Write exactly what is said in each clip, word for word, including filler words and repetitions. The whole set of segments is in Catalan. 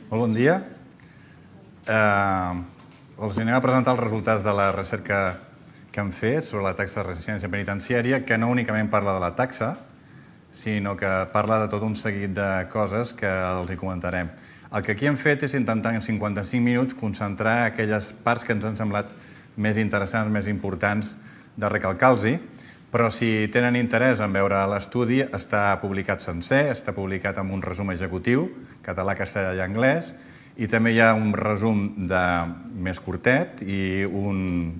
Molt bon dia. Els anem a presentar els resultats de la recerca que hem fet sobre la taxa de reincidència penitenciària, que no únicament parla de la taxa, sinó que parla de tot un seguit de coses que els hi comentarem. El que aquí hem fet és intentar en cinquanta-cinc minuts concentrar aquelles parts que ens han semblat més interessants, més importants de recalcar-los-hi, però si tenen interès en veure l'estudi, està publicat sencer, està publicat amb un resum executiu, català, castellà i anglès, i també hi ha un resum més curtet i un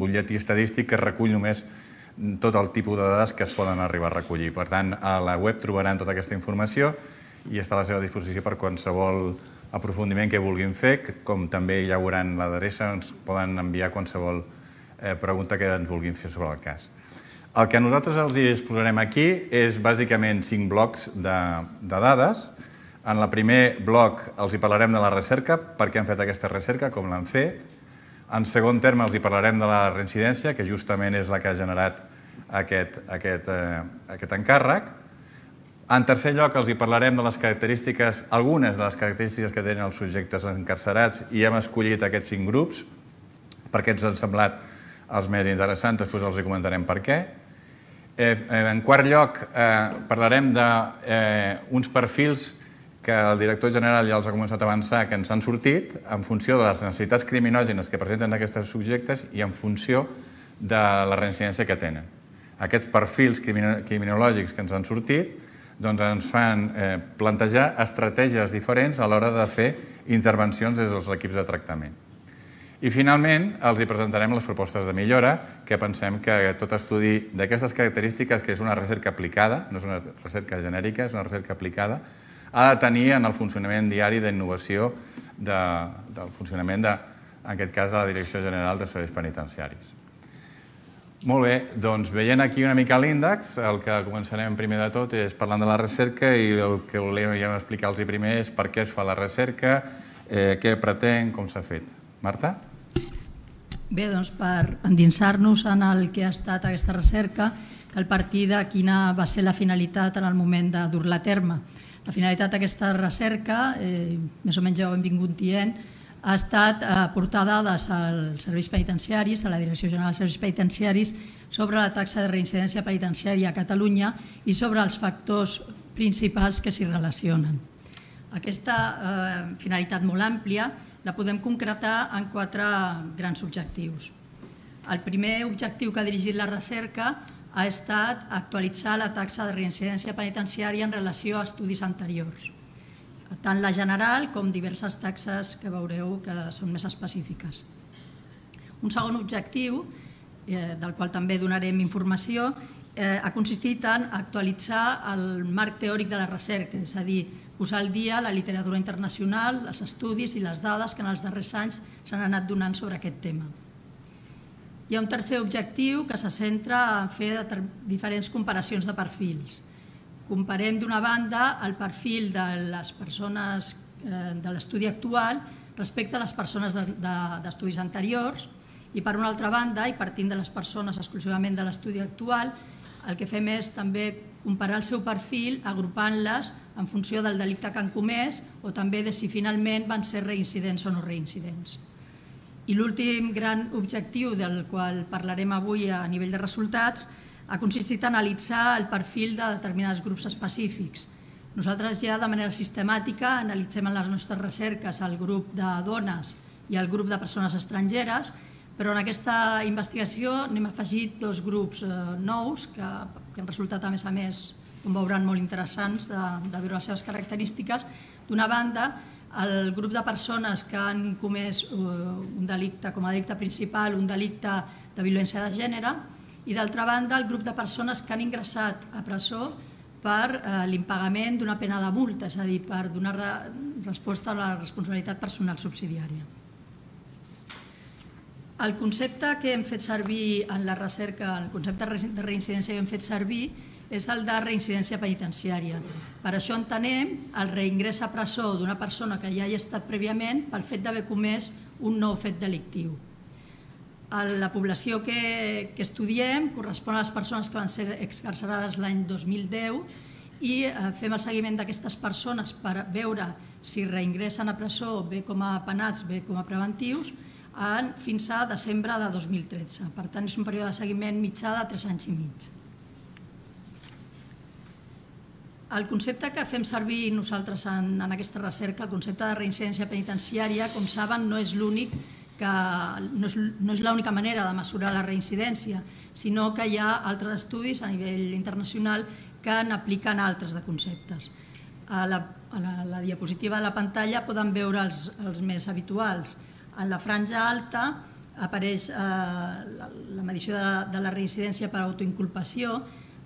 butlletí estadístic que recull només tot el tipus de dades que es poden arribar a recollir. Per tant, a la web trobaran tota aquesta informació i està a la seva disposició per qualsevol aprofundiment que vulguin fer, com també ja veuran l'adreça, ens poden enviar qualsevol pregunta que ens vulguin fer sobre el cas. El que nosaltres els exposarem aquí és bàsicament cinc blocs de dades. En el primer bloc els hi parlarem de la recerca, per què han fet aquesta recerca, com l'han fet. En segon terme els hi parlarem de la reincidència, que justament és la que ha generat aquest encàrrec. En tercer lloc els hi parlarem de les característiques, algunes de les característiques que tenen els subjectes encarcerats, i hem escollit aquests cinc grups perquè ens han semblat els més interessants, després els hi comentarem per què. En quart lloc parlarem d'uns perfils que el director general ja els ha començat a avançar, que ens han sortit en funció de les necessitats criminògenes que presenten aquests subjectes i en funció de la reincidència que tenen. Aquests perfils criminològics que ens han sortit ens fan plantejar estratègies diferents a l'hora de fer intervencions des dels equips de tractament. I finalment els hi presentarem les propostes de millora, que pensem que tot estudi d'aquestes característiques, que és una recerca aplicada, no és una recerca genèrica, és una recerca aplicada, ha de tenir en el funcionament diari d'innovació del funcionament, en aquest cas, de la Direcció General de Serveis Penitenciaris. Molt bé, doncs veient aquí una mica l'índex, el que començarem primer de tot és parlant de la recerca i el que volíem explicar-los primer és per què es fa la recerca, què pretén, com s'ha fet. Marta? Bé, doncs per endinsar-nos en el que ha estat aquesta recerca, cal partir de quina va ser la finalitat en el moment de dur-la a terme. La finalitat d'aquesta recerca, més o menys ja ho hem vingut dient, ha estat aportar dades als serveis penitenciaris, a la Direcció General de Serveis Penitenciaris, sobre la taxa de reincidència penitenciària a Catalunya i sobre els factors principals que s'hi relacionen. Aquesta finalitat molt àmplia la podem concretar en quatre grans objectius. El primer objectiu que ha dirigit la recerca ha estat actualitzar la taxa de reincidència penitenciària en relació a estudis anteriors, tant la general com diverses taxes que veureu que són més específiques. Un segon objectiu, del qual també donarem informació, ha consistit en actualitzar el marc teòric de la recerca, és a dir, posar al dia la literatura internacional, els estudis i les dades que en els darrers anys s'han anat donant sobre aquest tema. Hi ha un tercer objectiu que se centra en fer diferents comparacions de perfils. Comparem d'una banda el perfil de les persones de l'estudi actual respecte a les persones d'estudis anteriors i per una altra banda, i partint de les persones exclusivament de l'estudi actual, el que fem és també comparar el seu perfil agrupant-les en funció del delicte que han comès o també de si finalment van ser reincidents o no reincidents. I l'últim gran objectiu del qual parlarem avui a nivell de resultats ha consistit en analitzar el perfil de determinats grups específics. Nosaltres ja de manera sistemàtica analitzem en les nostres recerques el grup de dones i el grup de persones estrangeres, però en aquesta investigació n'hem afegit dos grups nous que han resultat, a més a més, com veuran, molt interessants de veure les seves característiques. D'una banda, el grup de persones que han comès un delicte com a delicte principal, un delicte de violència de gènere, i d'altra banda, el grup de persones que han ingressat a presó per l'impagament d'una pena de multa, és a dir, per donar resposta a la responsabilitat personal subsidiària. El concepte que hem fet servir en la recerca, el concepte de reincidència que hem fet servir, és el de reincidència penitenciària. Per això entenem el reingrés a presó d'una persona que ja hi ha estat prèviament pel fet d'haver comès un nou fet delictiu. La població que estudiem correspon a les persones que van ser excarcerades l'any dos mil deu i fem el seguiment d'aquestes persones per veure si reingressen a presó bé com a penats, bé com a preventius, fins a desembre de dos mil tretze. Per tant, és un període de seguiment mitjà de tres anys i mig. El concepte que fem servir nosaltres en aquesta recerca, el concepte de reincidència penitenciària, com saben, no és l'únic que no és l'única manera de mesurar la reincidència, sinó que hi ha altres estudis a nivell internacional que n'apliquen altres de conceptes. A la diapositiva de la pantalla poden veure els més habituals. En la franja alta apareix la medició de la reincidència per autoinculpació.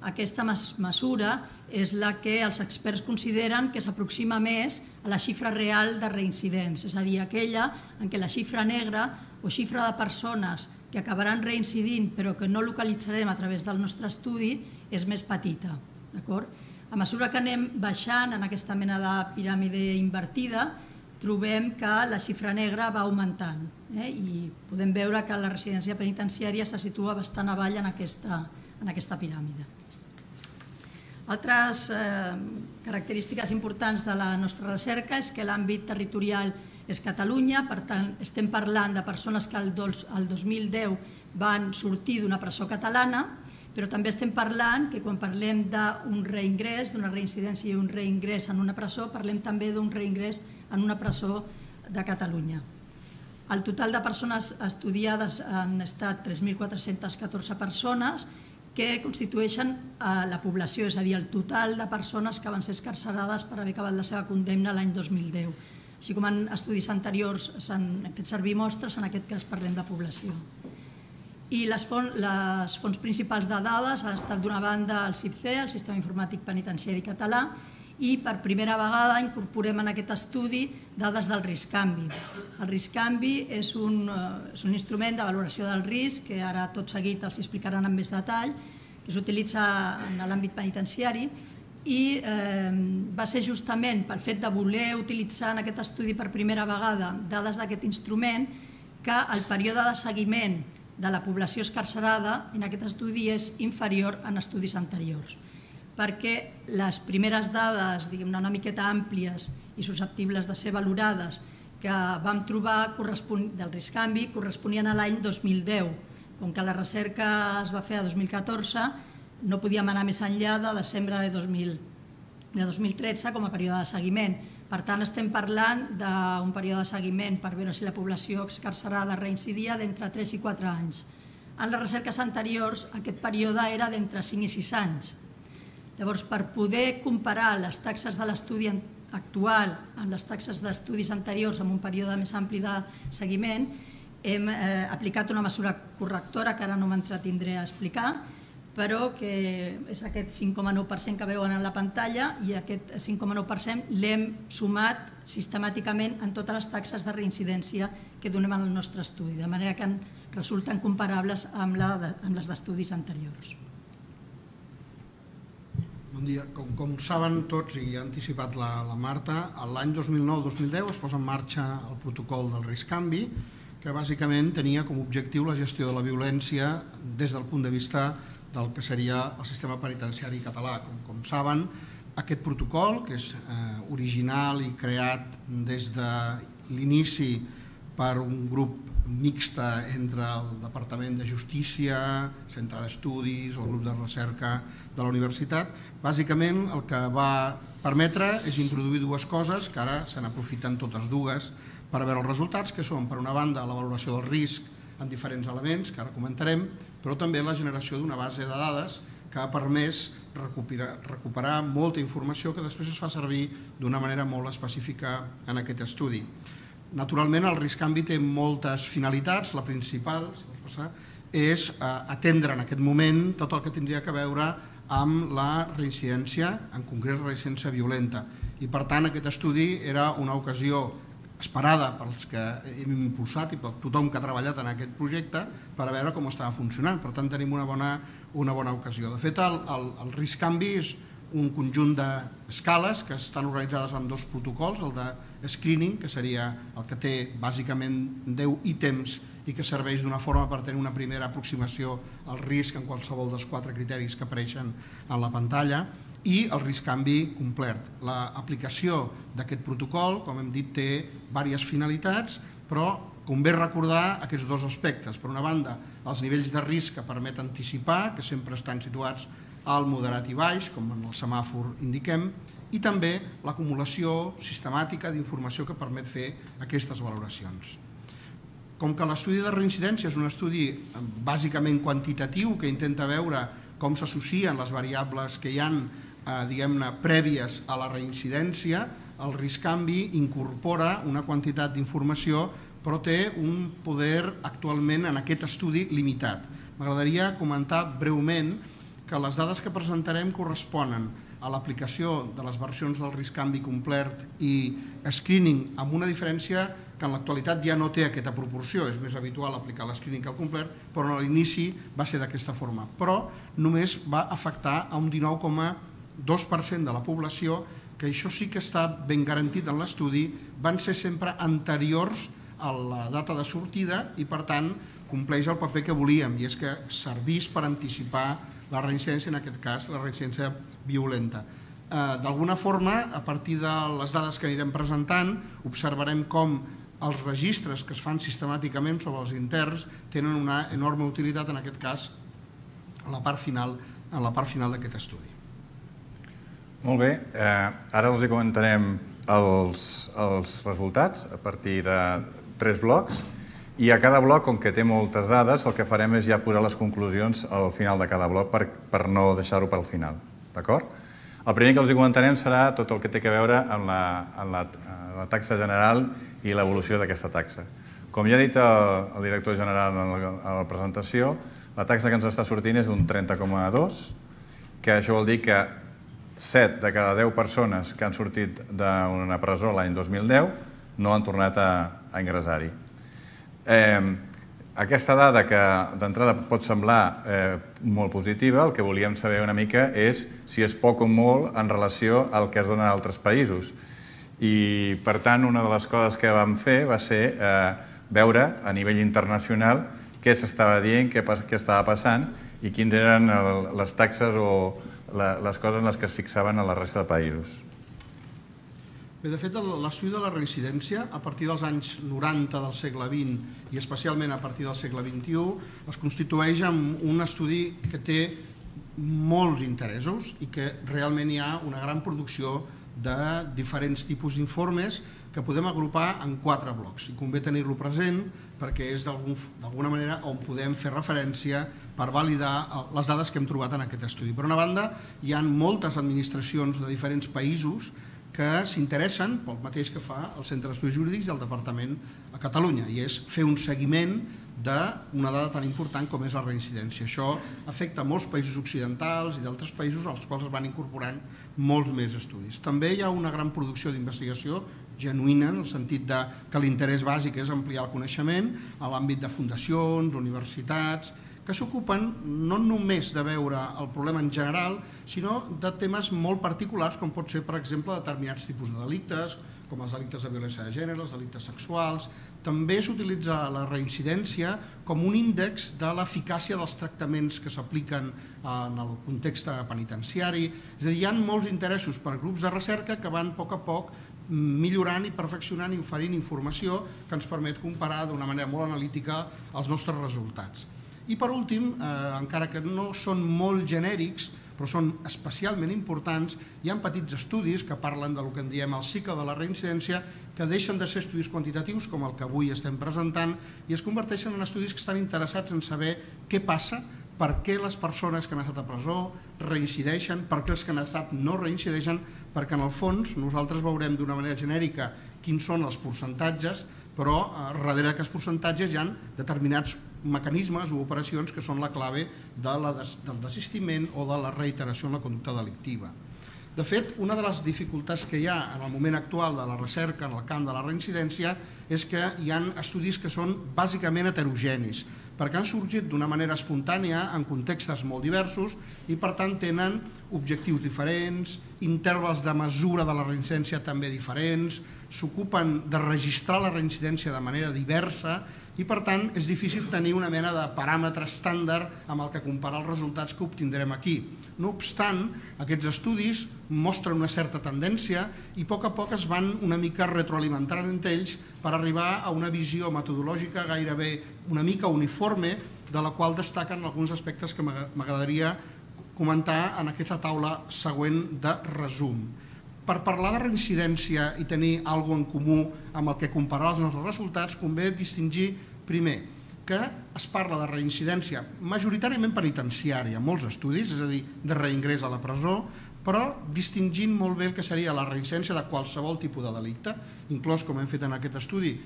Aquesta mesura és la que els experts consideren que s'aproxima més a la xifra real de reincidents, és a dir, aquella en què la xifra negra o xifra de persones que acabaran reincidint però que no localitzarem a través del nostre estudi és més petita. A mesura que anem baixant en aquesta mena de piràmide invertida, trobem que la xifra negra va augmentant i podem veure que la residència penitenciària se situa bastant avall en aquesta piràmide. Altres característiques importants de la nostra recerca és que l'àmbit territorial és Catalunya, per tant estem parlant de persones que el dos mil deu van sortir d'una presó catalana, però també estem parlant que quan parlem d'un reingrés, d'una reincidència i un reingrés en una presó, parlem també d'un reingrés en una presó de Catalunya. El total de persones estudiades han estat tres mil quatre-centes catorze persones que constitueixen la població, és a dir, el total de persones que van ser excarcerades per haver acabat la seva condemna l'any dos mil deu. Així com en estudis anteriors s'han fet servir mostres, en aquest cas parlem de població. I les fonts principals de dades han estat d'una banda el C I P C, el Sistema Informàtic Penitenciari Català, i per primera vegada incorporem en aquest estudi dades del risc-canvi. El risc-canvi és un instrument de valoració del risc, que ara tot seguit els explicaran amb més detall, que s'utilitza en l'àmbit penitenciari, i va ser justament pel fet de voler utilitzar en aquest estudi per primera vegada dades d'aquest instrument que el període de seguiment de la població excarcerada en aquest estudi és inferior en estudis anteriors, perquè les primeres dades, diguem-ne, una miqueta àmplies i susceptibles de ser valorades que vam trobar del risc-canvi corresponien a l'any dos mil deu. Com que la recerca es va fer a dos mil catorze, no podíem anar més enllà de desembre de dos mil tretze com a període de seguiment. Per tant, estem parlant d'un període de seguiment per veure si la població excarcerada reincidia d'entre tres i quatre anys. En les recerques anteriors, aquest període era d'entre cinc i sis anys. Llavors, per poder comparar les taxes de l'estudi actual amb les taxes d'estudis anteriors amb un període més ampli de seguiment, hem aplicat una mesura correctora que ara no m'entretindré a explicar, però que és aquest cinc coma nou per cent que veuen en la pantalla, i aquest cinc coma nou per cent l'hem sumat sistemàticament en totes les taxes de reincidència que donem en el nostre estudi, de manera que resulten comparables amb les d'estudis anteriors. Bon dia. Com saben tots, i ha anticipat la Marta, l'any dos mil nou dos mil deu es posa en marxa el protocol del risc-canvi, que bàsicament tenia com a objectiu la gestió de la violència des del punt de vista del que seria el sistema penitenciari català. Com saben, aquest protocol, que és original i creat des de l'inici per un grup mixta entre el Departament de Justícia, Centre d'Estudis, el grup de recerca de la universitat, bàsicament el que va permetre és introduir dues coses, que ara se n'aprofiten totes dues per veure els resultats, que són, per una banda, la valoració del risc en diferents elements, que ara comentarem, però també la generació d'una base de dades que ha permès recuperar molta informació que després es fa servir d'una manera molt específica en aquest estudi. Naturalment, el risc-canvi té moltes finalitats. La principal, si vols passar, és atendre en aquest moment tot el que tindria que veure amb la reincidència, en concret la reincidència violenta. I per tant, aquest estudi era una ocasió esperada pels que hem impulsat i per tothom que ha treballat en aquest projecte per a veure com estava funcionant. Per tant, tenim una bona ocasió. De fet, el risc-canvi és un conjunt d'escales que estan organitzades en dos protocols, el de screening, que seria el que té bàsicament deu ítems i que serveix d'una forma per tenir una primera aproximació al risc en qualsevol dels quatre criteris que apareixen en la pantalla, i el risc canvi complet. L'aplicació d'aquest protocol, com hem dit, té diverses finalitats, però convé recordar aquests dos aspectes. Per una banda, els nivells de risc que permet anticipar, que sempre estan situats al moderat i baix, com en el semàfor indiquem, i també l'acumulació sistemàtica d'informació que permet fer aquestes valoracions. Com que l'estudi de reincidència és un estudi bàsicament quantitatiu que intenta veure com s'associen les variables que hi ha diguem-ne prèvies a la reincidència, el risc canvi incorpora una quantitat d'informació però té un poder actualment en aquest estudi limitat. M'agradaria comentar breument que les dades que presentarem corresponen a l'aplicació de les versions del risc canvi complet i screening, amb una diferència que en l'actualitat ja no té aquesta proporció, és més habitual aplicar l'escreening que el complet, però a l'inici va ser d'aquesta forma. Però només va afectar a un dinou coma dos per cent de la població, que això sí que està ben garantit en l'estudi, van ser sempre anteriors a la data de sortida i per tant compleix el paper que volíem, i és que servís per anticipar la reincidència, en aquest cas la reincidència violenta. D'alguna forma, a partir de les dades que anirem presentant, observarem com els registres que es fan sistemàticament sobre els interns tenen una enorme utilitat, en aquest cas, en la part final, en la part final d'aquest estudi. Molt bé, ara els comentarem els resultats a partir de tres blocs, i a cada bloc, com que té moltes dades, el que farem és ja posar les conclusions al final de cada bloc per no deixar-ho pel final. D'acord? El primer que els comentarem serà tot el que té a veure amb la taxa general i l'evolució d'aquesta taxa. Com ja ha dit el director general a la presentació, la taxa que ens està sortint és d'un trenta coma dos, que això vol dir que set de cada deu persones que han sortit d'una presó l'any dos mil deu no han tornat a ingressar-hi. Aquesta dada, que d'entrada pot semblar molt positiva, el que volíem saber una mica és si és poc o molt en relació al que es dona en altres països. I, per tant, una de les coses que vam fer va ser veure a nivell internacional què s'estava dient, què estava passant i quines eren les taxes o les coses en les que es fixaven a la resta de països. Bé, de fet, l'estudi de la reincidència, a partir dels anys noranta del segle vint i especialment a partir del segle vint-i-u, es constitueix en un estudi que té molts interessos i que realment hi ha una gran producció de diferents tipus d'informes que podem agrupar en quatre blocs. I convé tenir-lo present perquè és d'alguna manera on podem fer referència per validar les dades que hem trobat en aquest estudi. Per una banda, hi ha moltes administracions de diferents països que s'interessen pel mateix que fa el Centre d'Estudis Jurídics i el Departament a Catalunya, i és fer un seguiment d'una dada tan important com és la reincidència. Això afecta molts països occidentals i d'altres països als quals es van incorporant molts més estudis. També hi ha una gran producció d'investigació genuïna, en el sentit que l'interès bàsic és ampliar el coneixement a l'àmbit de fundacions, universitats, que s'ocupen no només de veure el problema en general, sinó de temes molt particulars, com pot ser, per exemple, determinats tipus de delictes, com els delictes de violència de gènere, els delictes sexuals. També s'utilitza la reincidència com un índex de l'eficàcia dels tractaments que s'apliquen en el context penitenciari. És a dir, hi ha molts interessos per grups de recerca que van a poc a poc millorant i perfeccionant i oferint informació que ens permet comparar d'una manera molt analítica els nostres resultats. I per últim, encara que no són molt genèrics, però són especialment importants, hi ha petits estudis que parlen del que en diem el cicle de la reincidència, que deixen de ser estudis quantitatius, com el que avui estem presentant, i es converteixen en estudis que estan interessats en saber què passa, per què les persones que han estat a presó reincideixen, per què els que han estat no reincideixen, perquè en el fons nosaltres veurem d'una manera genèrica quins són els percentatges, però darrere d'aquests percentatges hi ha determinats mecanismes o operacions que són la clave del desistiment o de la reiteració en la conducta delictiva. De fet, una de les dificultats que hi ha en el moment actual de la recerca en el camp de la reincidència és que hi ha estudis que són bàsicament heterogenis, perquè han sorgit d'una manera espontània en contextes molt diversos i per tant tenen objectius diferents, intervals de mesura de la reincidència també diferents, s'ocupen de registrar la reincidència de manera diversa i per tant és difícil tenir una mena de paràmetre estàndard amb el que comparar els resultats que obtindrem aquí. No obstant, aquests estudis mostren una certa tendència i a poc a poc es van una mica retroalimentant entre ells per arribar a una visió metodològica gairebé una mica uniforme, de la qual destaquen alguns aspectes que m'agradaria comentar en aquesta taula següent de resum. Per parlar de reincidència i tenir alguna cosa en comú amb el que comparar els nostres resultats, convé distingir, primer, que es parla de reincidència majoritàriament penitenciària, molts estudis, és a dir, de reingrés a la presó, però distingint molt bé el que seria la reincidència de qualsevol tipus de delicte, inclòs, com hem fet en aquest estudi,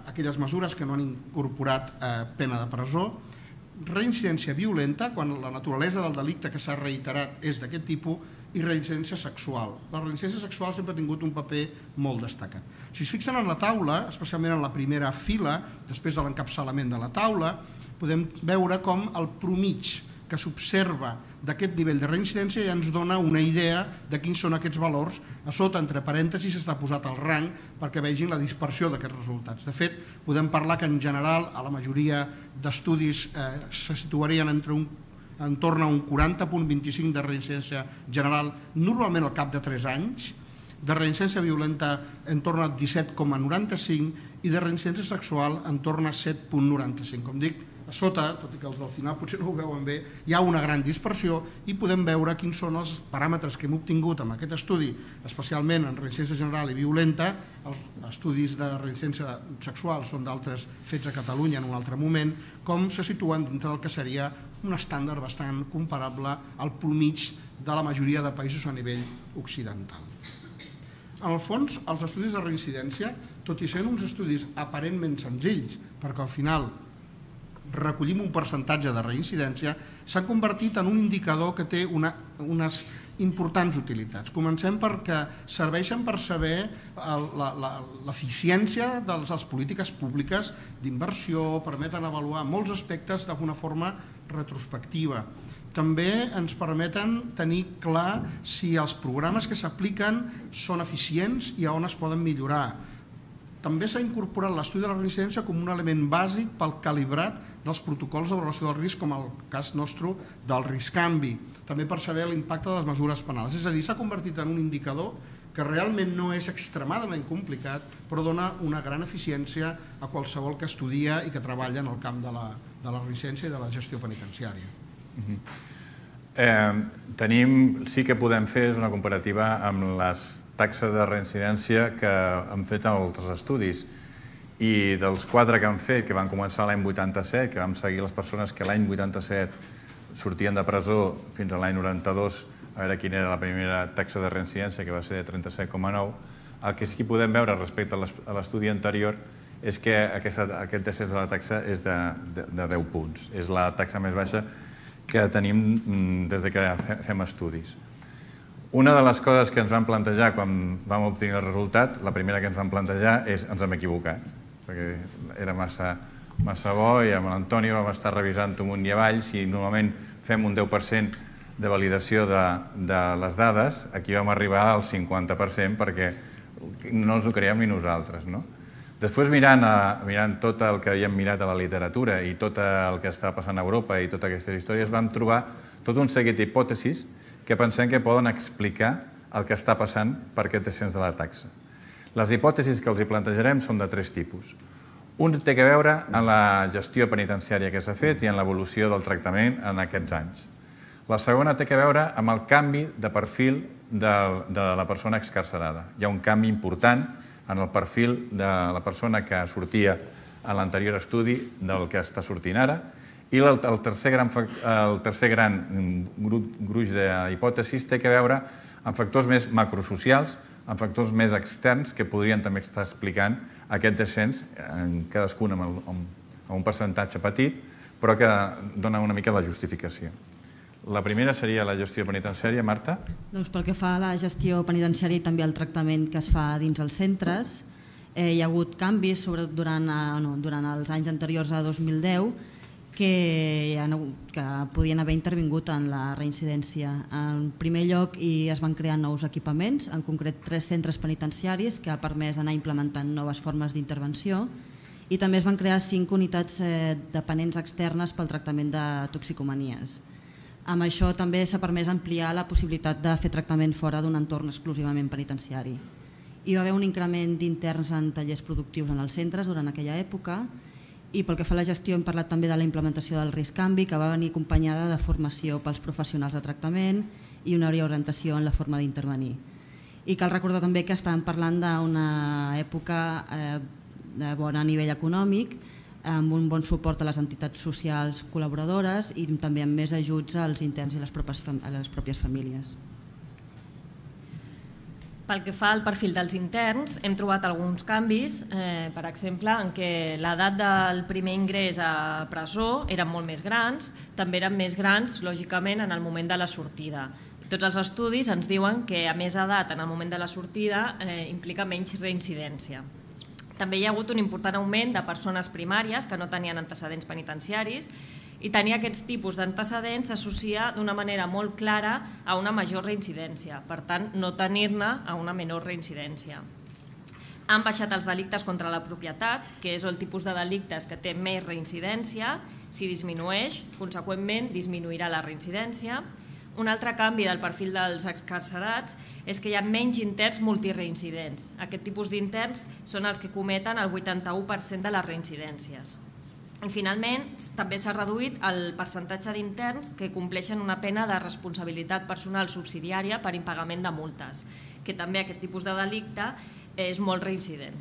aquelles mesures que no han incorporat pena de presó, reincidència violenta, quan la naturalesa del delicte que s'ha reiterat és d'aquest tipus, i reincidència sexual. La reincidència sexual sempre ha tingut un paper molt destacat. Si es fixen en la taula, especialment en la primera fila, després de l'encapçalament de la taula, podem veure com el promig que s'observa d'aquest nivell de reincidència ja ens dona una idea de quins són aquests valors. A sota, entre parèntesis, està posat el rang perquè vegin la dispersió d'aquests resultats. De fet, podem parlar que en general a la majoria d'estudis eh, se situarien entre un entorn a un quaranta coma vint-i-cinc de reincidència general, normalment al cap de tres anys, de reincidència violenta en torn a disset coma noranta-cinc i de reincidència sexual en torn a set coma noranta-cinc. Com dic, a sota, tot i que els del final potser no ho veuen bé, hi ha una gran dispersió i podem veure quins són els paràmetres que hem obtingut amb aquest estudi, especialment en reincidència general i violenta. Els estudis de reincidència sexual són d'altres fets a Catalunya en un altre moment, com se situen dintre del que seria un estàndard bastant comparable al promig de la majoria de països a nivell occidental. En el fons, els estudis de reincidència, tot i sent uns estudis aparentment senzills, perquè al final recollim un percentatge de reincidència, s'han convertit en un indicador que té una, unes importants utilitats. Comencem perquè serveixen per saber l'eficiència de les polítiques públiques d'inversió, permeten avaluar molts aspectes d'una forma retrospectiva. També ens permeten tenir clar si els programes que s'apliquen són eficients i a on es poden millorar. També s'ha incorporat l'estudi de la reincidència com un element bàsic pel calibrat dels protocols d'avaluació del risc, com el cas nostre del RISCANVI, també per saber l'impacte de les mesures penals. És a dir, s'ha convertit en un indicador que realment no és extremadament complicat, però dona una gran eficiència a qualsevol que estudia i que treballa en el camp de la, de la reincidència i de la gestió penitenciària. Uh-huh. Eh, tenim, sí que podem fer una comparativa amb les taxes de reincidència que han fet altres estudis, i dels quatre que han fet, que van començar l'any vuitanta-set, que vam seguir les persones que l'any vuitanta-set sortien de presó fins a l'any noranta-dos, a veure quina era la primera taxa de reincidència, que va ser de trenta-set coma nou, el que sí que podem veure respecte a l'estudi anterior és que aquesta, aquest descens de la taxa és de, de, de deu punts. És la taxa més baixa que tenim des de que fem estudis. Una de les coses que ens vam plantejar quan vam obtenir el resultat, la primera que ens vam plantejar és ens hem equivocat, perquè era massa, massa bo i amb l'Antoni vam estar revisant amunt i avall. Si normalment fem un deu per cent de validació de, de les dades, aquí vam arribar al cinquanta per cent perquè no ens ho creiem ni nosaltres, no? Després, mirant, a, mirant tot el que havíem mirat a la literatura i tot el que està passant a Europa i totes aquestes històries, vam trobar tot un seguit d'hipòtesis que pensem que poden explicar el que està passant per aquest descens de la taxa. Les hipòtesis que els hi plantejarem són de tres tipus. Un té a veure amb la gestió penitenciària que s'ha fet i en l'evolució del tractament en aquests anys. La segona té a veure amb el canvi de perfil de, de la persona excarcerada. Hi ha un canvi important en el perfil de la persona que sortia a l'anterior estudi del que està sortint ara, i el, el, tercer gran, el tercer gran gruix d'hipòtesis té a veure amb factors més macrosocials, amb factors més externs que podrien també estar explicant aquest descens, en cadascun amb, el, amb un percentatge petit, però que dona una mica la justificació. La primera seria la gestió penitenciària, Marta? Doncs pel que fa a la gestió penitenciària i també al tractament que es fa dins els centres, eh, hi ha hagut canvis, sobretot durant, eh, no, durant els anys anteriors a dos mil deu, que, que podien haver intervingut en la reincidència. En primer lloc, hi es van crear nous equipaments, en concret tres centres penitenciaris, que ha permès anar implementant noves formes d'intervenció, i també es van crear cinc unitats eh, dependents externes pel tractament de toxicomanies. Amb això també s'ha permès ampliar la possibilitat de fer tractament fora d'un entorn exclusivament penitenciari. Hi va haver un increment d'interns en tallers productius en els centres durant aquella època i pel que fa a la gestió hem parlat també de la implementació del risc canvi, que va venir acompanyada de formació pels professionals de tractament i una orientació en la forma d'intervenir. I cal recordar també que estàvem parlant d'una època eh, de bon nivell econòmic, amb un bon suport a les entitats socials col·laboradores i també amb més ajuts als interns i a les pròpies, a les pròpies famílies. Pel que fa al perfil dels interns, hem trobat alguns canvis, eh, per exemple, en què l'edat del primer ingrés a presó eren molt més grans, també eren més grans, lògicament, en el moment de la sortida. Tots els estudis ens diuen que a més edat en el moment de la sortida eh, implica menys reincidència. També hi ha hagut un important augment de persones primàries que no tenien antecedents penitenciaris i tenir aquests tipus d'antecedents s'associa d'una manera molt clara a una major reincidència, per tant, no tenir-ne a una menor reincidència. Han baixat els delictes contra la propietat, que és el tipus de delictes que té més reincidència. Si disminueix, conseqüentment, disminuirà la reincidència. Un altre canvi del perfil dels excarcerats és que hi ha menys interns multireincidents. Aquest tipus d'interns són els que cometen el vuitanta-u per cent de les reincidències. I finalment, també s'ha reduït el percentatge d'interns que compleixen una pena de responsabilitat personal subsidiària per impagament de multes, que també aquest tipus de delicte és molt reincident.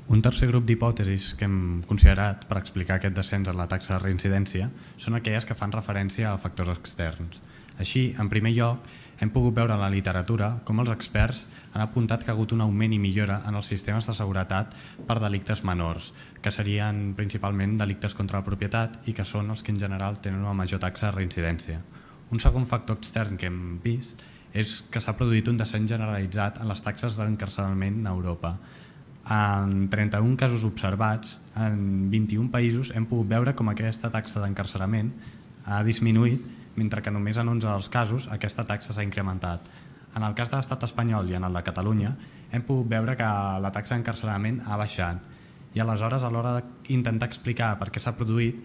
Un tercer grup d'hipòtesis que hem considerat per explicar aquest descens en la taxa de reincidència són aquelles que fan referència a factors externs. Així, en primer lloc, hem pogut veure en la literatura com els experts han apuntat que ha hagut un augment i millora en els sistemes de seguretat per delictes menors, que serien principalment delictes contra la propietat i que són els que en general tenen una major taxa de reincidència. Un segon factor extern que hem vist és que s'ha produït un descens generalitzat en les taxes d'encarcerament a Europa. En trenta-un casos observats, en vint-i-un països hem pogut veure com aquesta taxa d'encarcerament ha disminuït, mentre que només en onze dels casos aquesta taxa s'ha incrementat. En el cas de l'estat espanyol i en el de Catalunya hem pogut veure que la taxa d'encarcerament ha baixat i aleshores a l'hora d'intentar explicar per què s'ha produït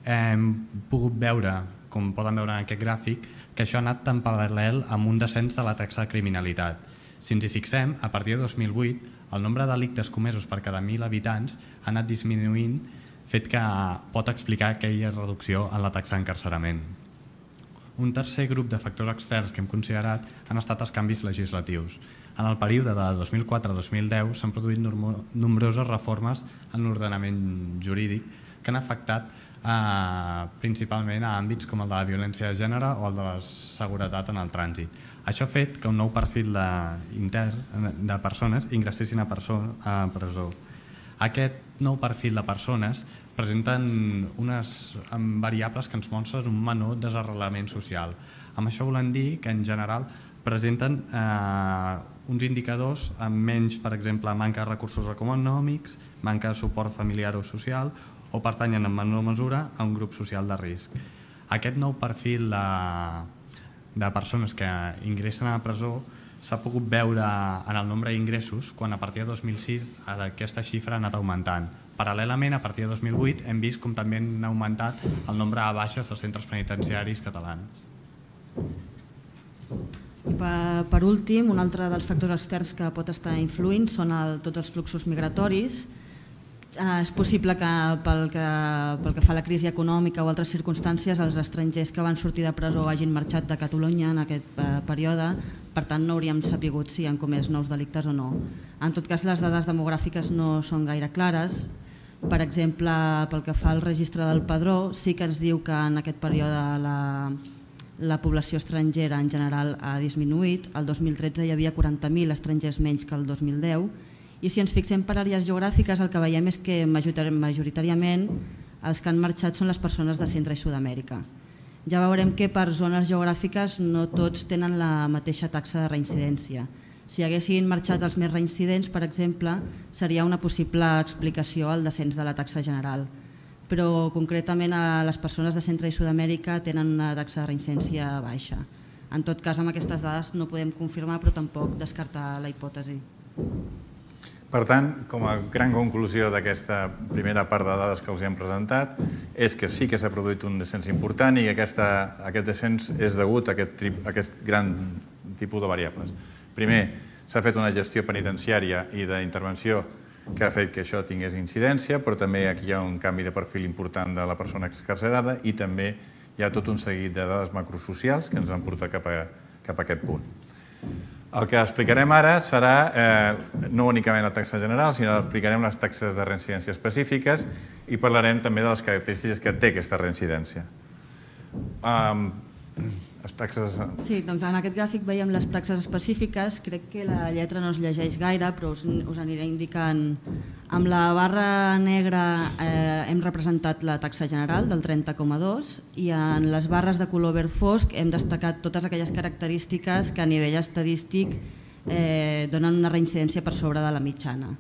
hem pogut veure, com poden veure en aquest gràfic, que això ha anat en paral·lel amb un descens de la taxa de criminalitat. Si ens hi fixem, a partir de dos mil vuit el nombre de delictes comesos per cada mil habitants ha anat disminuint, fet que pot explicar aquella reducció en la taxa d'encarcerament. Un tercer grup de factors externs que hem considerat han estat els canvis legislatius. En el període de dos mil quatre a dos mil deu s'han produït nombroses reformes en l'ordenament jurídic que han afectat eh, principalment a àmbits com el de la violència de gènere o el de la seguretat en el trànsit. Això ha fet que un nou perfil de, intern de persones ingressessin a, perso a presó. Aquest nou perfil de persones presenten unes variables que ens mostren un menor desarrelament social. Amb això volem dir que en general presenten eh, uns indicadors amb menys, per exemple, manca de recursos econòmics, manca de suport familiar o social o pertanyen en menor mesura a un grup social de risc. Aquest nou perfil de, de persones que ingressen a la presó s'ha pogut veure en el nombre d'ingressos quan a partir de dos mil sis aquesta xifra ha anat augmentant. Paral·lelament, a partir de dos mil vuit hem vist com també han augmentat el nombre de baixes als centres penitenciaris catalans. I per, per últim, un altre dels factors externs que pot estar influint són el, tots els fluxos migratoris. Eh, és possible que pel, que pel que fa a la crisi econòmica o altres circumstàncies els estrangers que van sortir de presó hagin marxat de Catalunya en aquest eh, període, per tant no hauríem sabut si han comès nous delictes o no. En tot cas, les dades demogràfiques no són gaire clares. Per exemple, pel que fa al registre del padró, sí que ens diu que en aquest període la, la població estrangera en general ha disminuït. El dos mil tretze hi havia quaranta mil estrangers menys que el dos mil deu i si ens fixem per àrees geogràfiques el que veiem és que majoritàriament els que han marxat són les persones de Centre i Sud-amèrica. Ja veurem que per zones geogràfiques no tots tenen la mateixa taxa de reincidència. Si haguessin marxat els més reincidents, per exemple, seria una possible explicació al descens de la taxa general. Però concretament a les persones de Centre i Sud-amèrica tenen una taxa de reincidència baixa. En tot cas, amb aquestes dades no podem confirmar, però tampoc descartar la hipòtesi. Per tant, com a gran conclusió d'aquesta primera part de dades que els hem presentat, és que sí que s'ha produït un descens important i que aquesta, aquest descens és degut a aquest, tri, a aquest gran tipus de variables. Primer, s'ha fet una gestió penitenciària i d'intervenció que ha fet que això tingués incidència, però també aquí hi ha un canvi de perfil important de la persona excarcerada i també hi ha tot un seguit de dades macrosocials que ens han portat cap a, cap a aquest punt. El que explicarem ara serà eh, no únicament la taxa general, sinó que explicarem les taxes de reincidència específiques i parlarem també de les característiques que té aquesta reincidència. Um, les taxes... Sí, doncs en aquest gràfic veiem les taxes específiques. Crec que la lletra no es llegeix gaire, però us, us aniré indicant. Amb la barra negra eh, hem representat la taxa general del trenta coma dos i en les barres de color verd fosc hem destacat totes aquelles característiques que a nivell estadístic eh, donen una reincidència per sobre de la mitjana.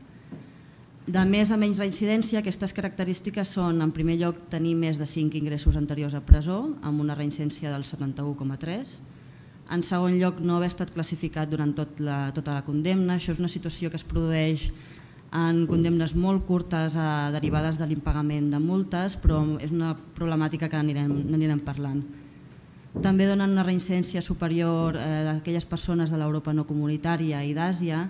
De més a menys reincidència, aquestes característiques són, en primer lloc, tenir més de cinc ingressos anteriors a presó, amb una reincidència del setanta-u coma tres. En segon lloc, no haver estat classificat durant tot la, tota la condemna. Això és una situació que es produeix en condemnes molt curtes eh, derivades de l'impagament de multes, però és una problemàtica que anirem, anirem parlant. També donen una reincidència superior eh, a aquelles persones de l'Europa no comunitària i d'Àsia,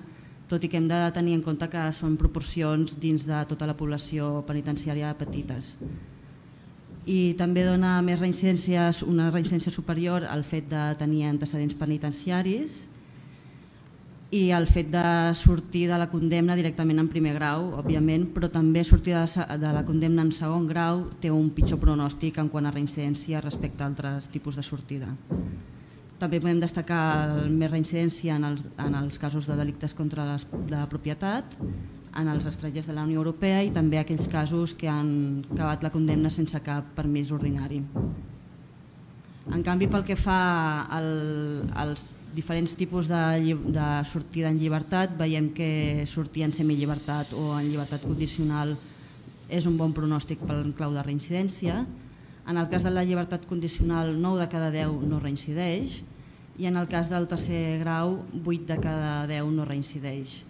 tot i que hem de tenir en compte que són proporcions dins de tota la població penitenciària petites. I també dona més reincidències, una reincidència superior al fet de tenir antecedents penitenciaris i el fet de sortir de la condemna directament en primer grau, òbviament, però també sortir de la condemna en segon grau té un pitjor pronòstic en quant a reincidència respecte a altres tipus de sortida. També podem destacar més reincidència en els, en els casos de delictes contra les, la propietat, en els estrangers de la Unió Europea i també aquells casos que han acabat la condemna sense cap permís ordinari. En canvi, pel que fa al, als diferents tipus de, de sortida en llibertat, veiem que sortir en semillibertat o en llibertat condicional és un bon pronòstic pel clau de reincidència. En el cas de la llibertat condicional, nou de cada deu no reincideix i en el cas del tercer grau, vuit de cada deu no reincideix.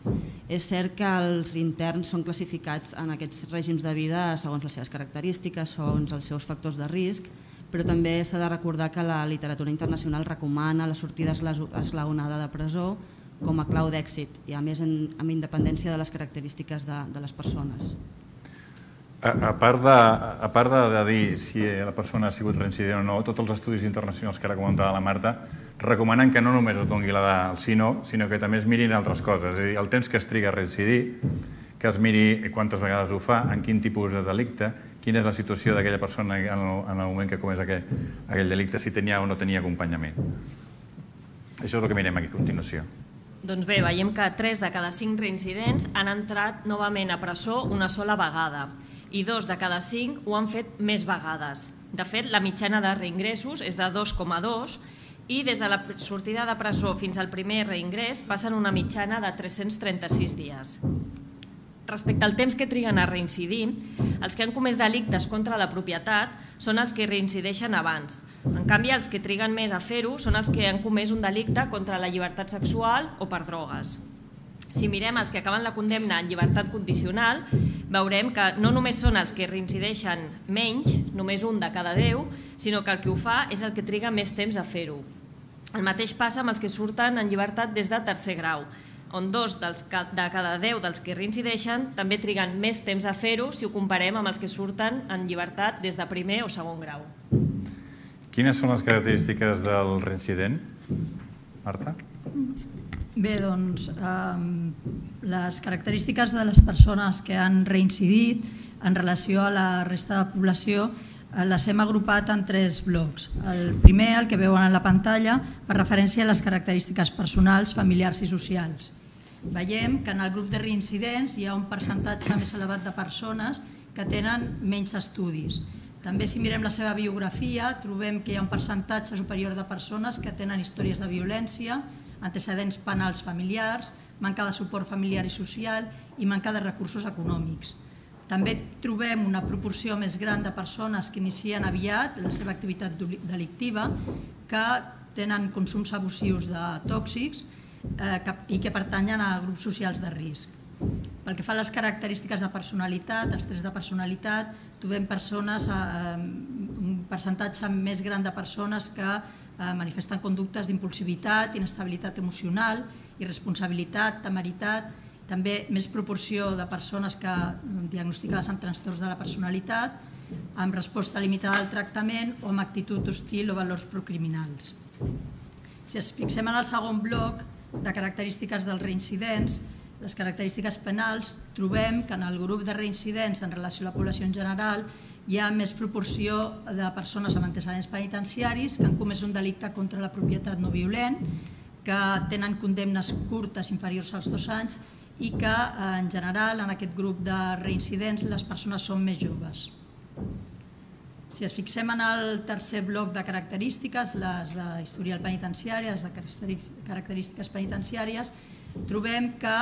És cert que els interns són classificats en aquests règims de vida segons les seves característiques, segons els seus factors de risc, però també s'ha de recordar que la literatura internacional recomana la sortida esglaonada de presó com a clau d'èxit i a més en, amb independència de les característiques de, de les persones. A, a part, de, a part de, de dir si la persona ha sigut reincident o no, tots els estudis internacionals que ara comentava la Marta recomanen que no només es doni la del sí no, sinó que també es mirin altres coses. És a dir, el temps que es triga a reincidir, que es miri quantes vegades ho fa, en quin tipus de delicte, quina és la situació d'aquella persona en el, en el moment que comés aquell, aquell delicte, si tenia o no tenia acompanyament. Això és el que mirem aquí a continuació. Doncs bé, veiem que tres de cada cinc reincidents han entrat novament a presó una sola vegada i dos de cada cinc ho han fet més vegades. De fet, la mitjana de reingressos és de dos coma dos i des de la sortida de presó fins al primer reingrés passen una mitjana de tres-cents trenta-sis dies. Respecte al temps que triguen a reincidir, els que han comès delictes contra la propietat són els que reincideixen abans. En canvi, els que triguen més a fer-ho són els que han comès un delicte contra la llibertat sexual o per drogues. Si mirem els que acaben la condemna en llibertat condicional, veurem que no només són els que reincideixen menys, només un de cada deu, sinó que el que ho fa és el que triga més temps a fer-ho. El mateix passa amb els que surten en llibertat des de tercer grau, on dos dels, de cada deu dels que reincideixen també triguen més temps a fer-ho si ho comparem amb els que surten en llibertat des de primer o segon grau. Quines són les característiques del reincident? Marta? Bé, doncs, eh, les característiques de les persones que han reincidit en relació a la resta de població eh, les hem agrupat en tres blocs. El primer, el que veuen a la pantalla, fa referència a les característiques personals, familiars i socials. Veiem que en el grup de reincidents hi ha un percentatge més elevat de persones que tenen menys estudis. També, si mirem la seva biografia, trobem que hi ha un percentatge superior de persones que tenen històries de violència, antecedents penals familiars, manca de suport familiar i social i manca de recursos econòmics. També trobem una proporció més gran de persones que inicien aviat la seva activitat delictiva, que tenen consums abusius de tòxics eh, que, i que pertanyen a grups socials de risc. Pel que fa a les característiques de personalitat, els tests de personalitat, trobem persones, un percentatge més gran de persones que manifesten conductes d'impulsivitat, inestabilitat emocional, irresponsabilitat, temeritat, també més proporció de persones que diagnosticades amb trastorns de la personalitat, amb resposta limitada al tractament o amb actitud hostil o valors procriminals. Si ens fixem en el segon bloc de característiques dels reincidents, les característiques penals, trobem que en el grup de reincidents en relació a la població en general hi ha més proporció de persones amb antecedents penitenciaris que han comès un delicte contra la propietat no violent, que tenen condemnes curtes inferiors als dos anys i que, en general, en aquest grup de reincidents, les persones són més joves. Si ens fixem en el tercer bloc de característiques, les d'historial penitenciari, les de característiques penitenciàries, trobem que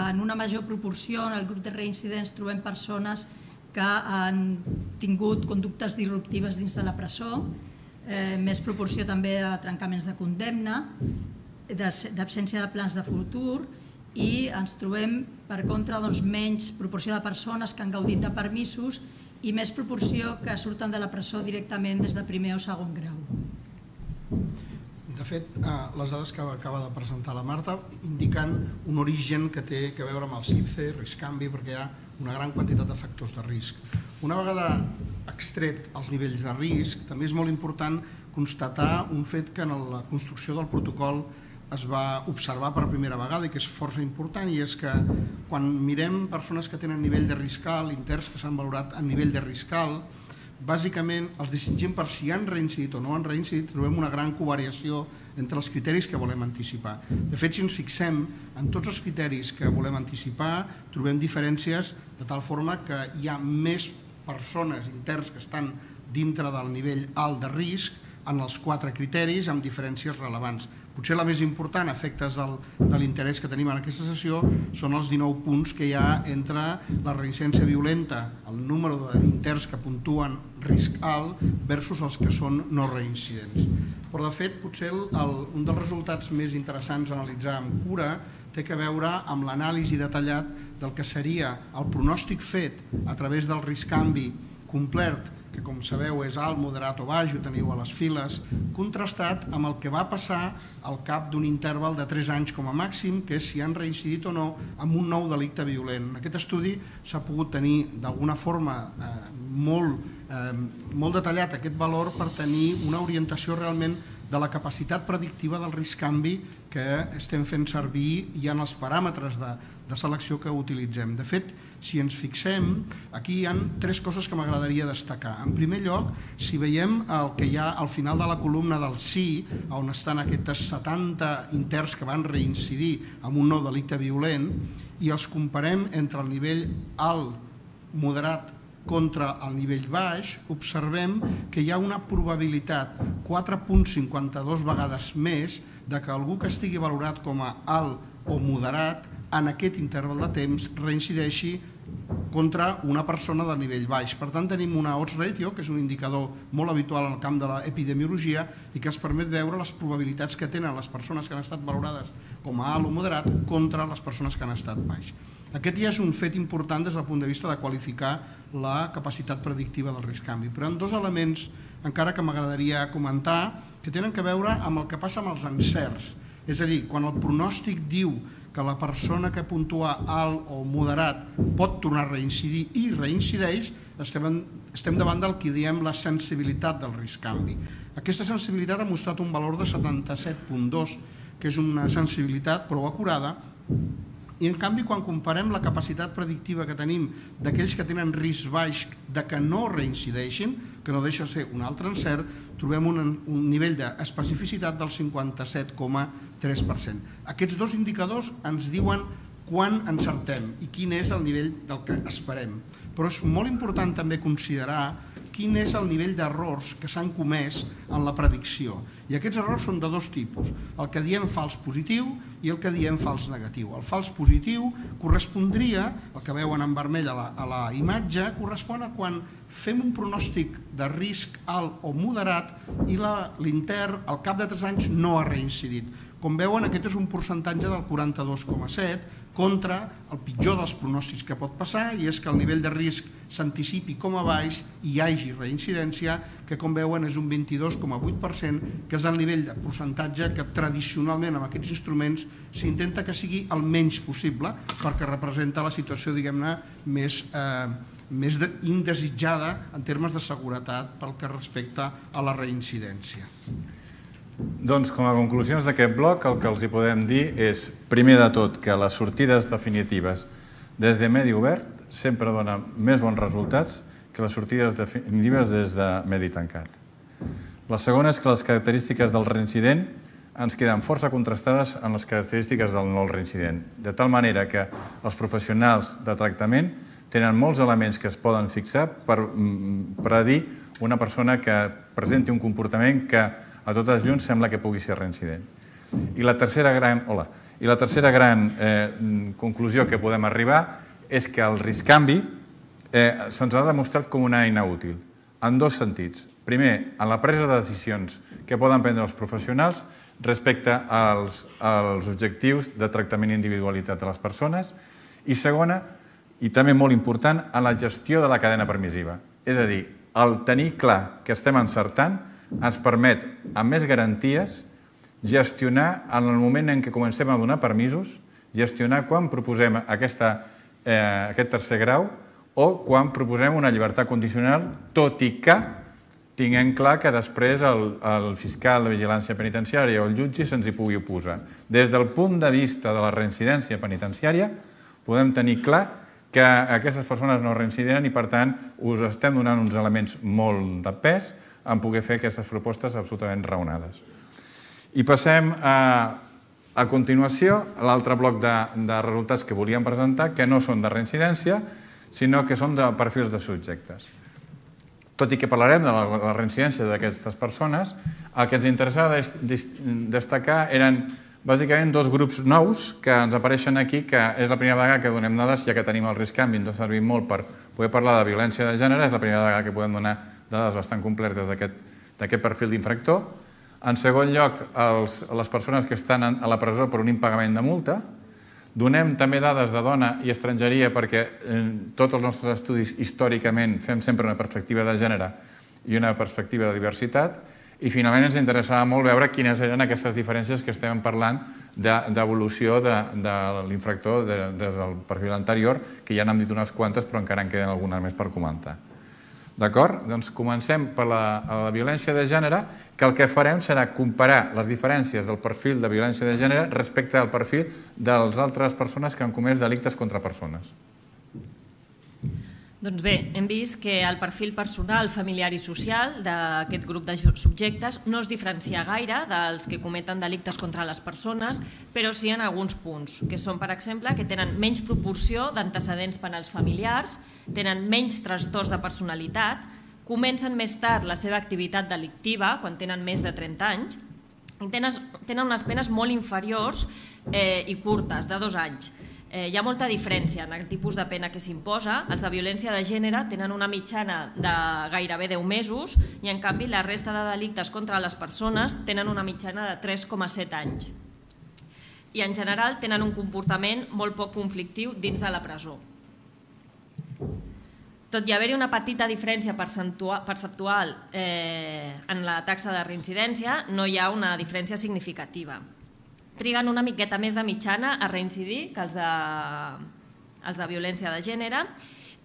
en una major proporció en el grup de reincidents trobem persones que han tingut conductes disruptives dins de la presó, més proporció també de trencaments de condemna, d'absència de plans de futur, i ens trobem, per contra, menys proporció de persones que han gaudit de permisos i més proporció que surten de la presó directament des de primer o segon grau. De fet, les dades que acaba de presentar la Marta indiquen un origen que té a veure amb el CIPCE, risc canvi, perquè hi ha una gran quantitat de factors de risc. Una vegada extret els nivells de risc, també és molt important constatar un fet que en la construcció del protocol es va observar per primera vegada i que és força important, i és que quan mirem persones que tenen nivell de risc alt, interns que s'han valorat a nivell de risc alt, bàsicament els distingim per si han reincidit o no han reincidit, trobem una gran covariació entre els criteris que volem anticipar. De fet, si ens fixem en tots els criteris que volem anticipar, trobem diferències de tal forma que hi ha més persones interns que estan dintre del nivell alt de risc en els quatre criteris amb diferències rellevants. Potser la més important, a efectes de l'interès que tenim en aquesta sessió, són els dinou punts que hi ha entre la reincidència violenta, el número d'interns que puntuen risc alt versus els que són no reincidents. Però, de fet, potser un dels resultats més interessants a analitzar amb cura té a veure amb l'anàlisi detallat del que seria el pronòstic fet a través del risc canvi complet, que com sabeu és alt, moderat o baix, ho teniu a les files, contrastat amb el que va passar al cap d'un interval de tres anys com a màxim, que és si han reincidit o no amb un nou delicte violent. En aquest estudi s'ha pogut tenir d'alguna forma molt detallat aquest valor per tenir una orientació realment de la capacitat predictiva del risc canvi que estem fent servir ja en els paràmetres de selecció que utilitzem. De fet, si ens fixem, aquí hi ha tres coses que m'agradaria destacar. En primer lloc, si veiem el que hi ha al final de la columna del sí, on estan aquests setanta interns que van reincidir amb un nou delicte violent, i els comparem entre el nivell alt, moderat, contra el nivell baix, observem que hi ha una probabilitat quatre coma cinquanta dos vegades més de que algú que estigui valorat com a alt o moderat en aquest interval de temps reincideixi contra una persona de nivell baix. Per tant, tenim una odds ratio, que és un indicador molt habitual en el camp de l'epidemiologia i que ens permet veure les probabilitats que tenen les persones que han estat valorades com a alt o moderat contra les persones que han estat baix. Aquest ja és un fet important des del punt de vista de qualificar la capacitat predictiva del risc canvi. Però hi ha dos elements encara que m'agradaria comentar que tenen a veure amb el que passa amb els encerts. És a dir, quan el pronòstic diu que la persona que puntua alt o moderat pot tornar a reincidir i reincideix, estem davant del que diem la sensibilitat del risc canvi. Aquesta sensibilitat ha mostrat un valor de setanta-set coma dos, que és una sensibilitat prou acurada, i en canvi quan comparem la capacitat predictiva que tenim d'aquells que tenen risc baix de que no reincideixin, que no deixa de ser un altre encert, trobem un nivell d'especificitat del cinquanta-set coma tres per cent. Aquests dos indicadors ens diuen quan encertem i quin és el nivell del que esperem. Però és molt important també considerar quin és el nivell d'errors que s'han comès en la predicció. I aquests errors són de dos tipus, el que diem fals positiu i el que diem fals negatiu. El fals positiu correspondria, el que veuen en vermell a la imatge, correspon a quan fem un pronòstic de risc alt o moderat i l'intern al cap de tres anys no ha reincidit. Com veuen, aquest és un percentatge del quaranta-dos coma set contra el pitjor dels pronòstics que pot passar, i és que el nivell de risc s'anticipi com a baix i hi hagi reincidència, que com veuen és un vint-i-dos coma vuit per cent, que és el nivell de percentatge que tradicionalment amb aquests instruments s'intenta que sigui el menys possible, perquè representa la situació, diguem-ne, més, eh, més indesitjada en termes de seguretat pel que respecta a la reincidència. Doncs, com a conclusions d'aquest bloc, el que els hi podem dir és, primer de tot, que les sortides definitives des de medi obert sempre donen més bons resultats que les sortides definitives des de medi tancat. La segona és que les característiques del reincident ens queden força contrastades amb les característiques del no reincident, de tal manera que els professionals de tractament tenen molts elements que es poden fixar per predir una persona que presenti un comportament que a totes llums sembla que pugui ser reincident. I la tercera gran, hola, i la tercera gran eh, conclusió que podem arribar és que el risc-canvi eh, se'ns ha demostrat com una eina útil, en dos sentits. Primer, en la presa de decisions que poden prendre els professionals respecte als, als objectius de tractament individualitzat de les persones, i segona, i també molt important, en la gestió de la cadena permissiva. És a dir, el tenir clar que estem encertant ens permet, amb més garanties, gestionar en el moment en què comencem a donar permisos, gestionar quan proposem aquesta, eh, aquest tercer grau o quan proposem una llibertat condicional, tot i que tinguem clar que després el, el fiscal de vigilància penitenciària o el jutge se'ns hi pugui oposar. Des del punt de vista de la reincidència penitenciària, podem tenir clar que aquestes persones no reincideren i, per tant, us estem donant uns elements molt de pes en poder fer aquestes propostes absolutament raonades. I passem a, a continuació a l'altre bloc de, de resultats que volíem presentar, que no són de reincidència, sinó que són de perfils de subjectes. Tot i que parlarem de la, la reincidència d'aquestes persones, el que ens interessava destacar eren bàsicament dos grups nous que ens apareixen aquí, que és la primera vegada que donem dades, ja que tenim el risc-canvi, ens ha servit molt per poder parlar de violència de gènere, és la primera vegada que podem donar dades bastant completes d'aquest perfil d'infractor. En segon lloc, els, les persones que estan a la presó per un impagament de multa. Donem també dades de dona i estrangeria perquè en tots els nostres estudis històricament fem sempre una perspectiva de gènere i una perspectiva de diversitat. I finalment ens interessava molt veure quines eren aquestes diferències que estem parlant d'evolució de, de l'infractor des del perfil anterior, que ja n'hem dit unes quantes, però encara en queden algunes més per comentar. D'acord? Doncs comencem per la, la violència de gènere, que el que farem serà comparar les diferències del perfil de violència de gènere respecte al perfil de les altres persones que han comès delictes contra persones. Doncs bé, hem vist que el perfil personal, familiar i social d'aquest grup de subjectes no es diferencia gaire dels que cometen delictes contra les persones, però sí en alguns punts, que són, per exemple, que tenen menys proporció d'antecedents penals familiars, tenen menys trastorns de personalitat, comencen més tard la seva activitat delictiva, quan tenen més de trenta anys, i tenen unes penes molt inferiors i curtes, de dos anys. Hi ha molta diferència en el tipus de pena que s'imposa. Els de violència de gènere tenen una mitjana de gairebé deu mesos i, en canvi, la resta de delictes contra les persones tenen una mitjana de tres coma set anys. I, en general, tenen un comportament molt poc conflictiu dins de la presó. Tot i haver-hi una petita diferència perceptual en la taxa de reincidència, no hi ha una diferència significativa. Triguen una miqueta més de mitjana a reincidir que els de, els de violència de gènere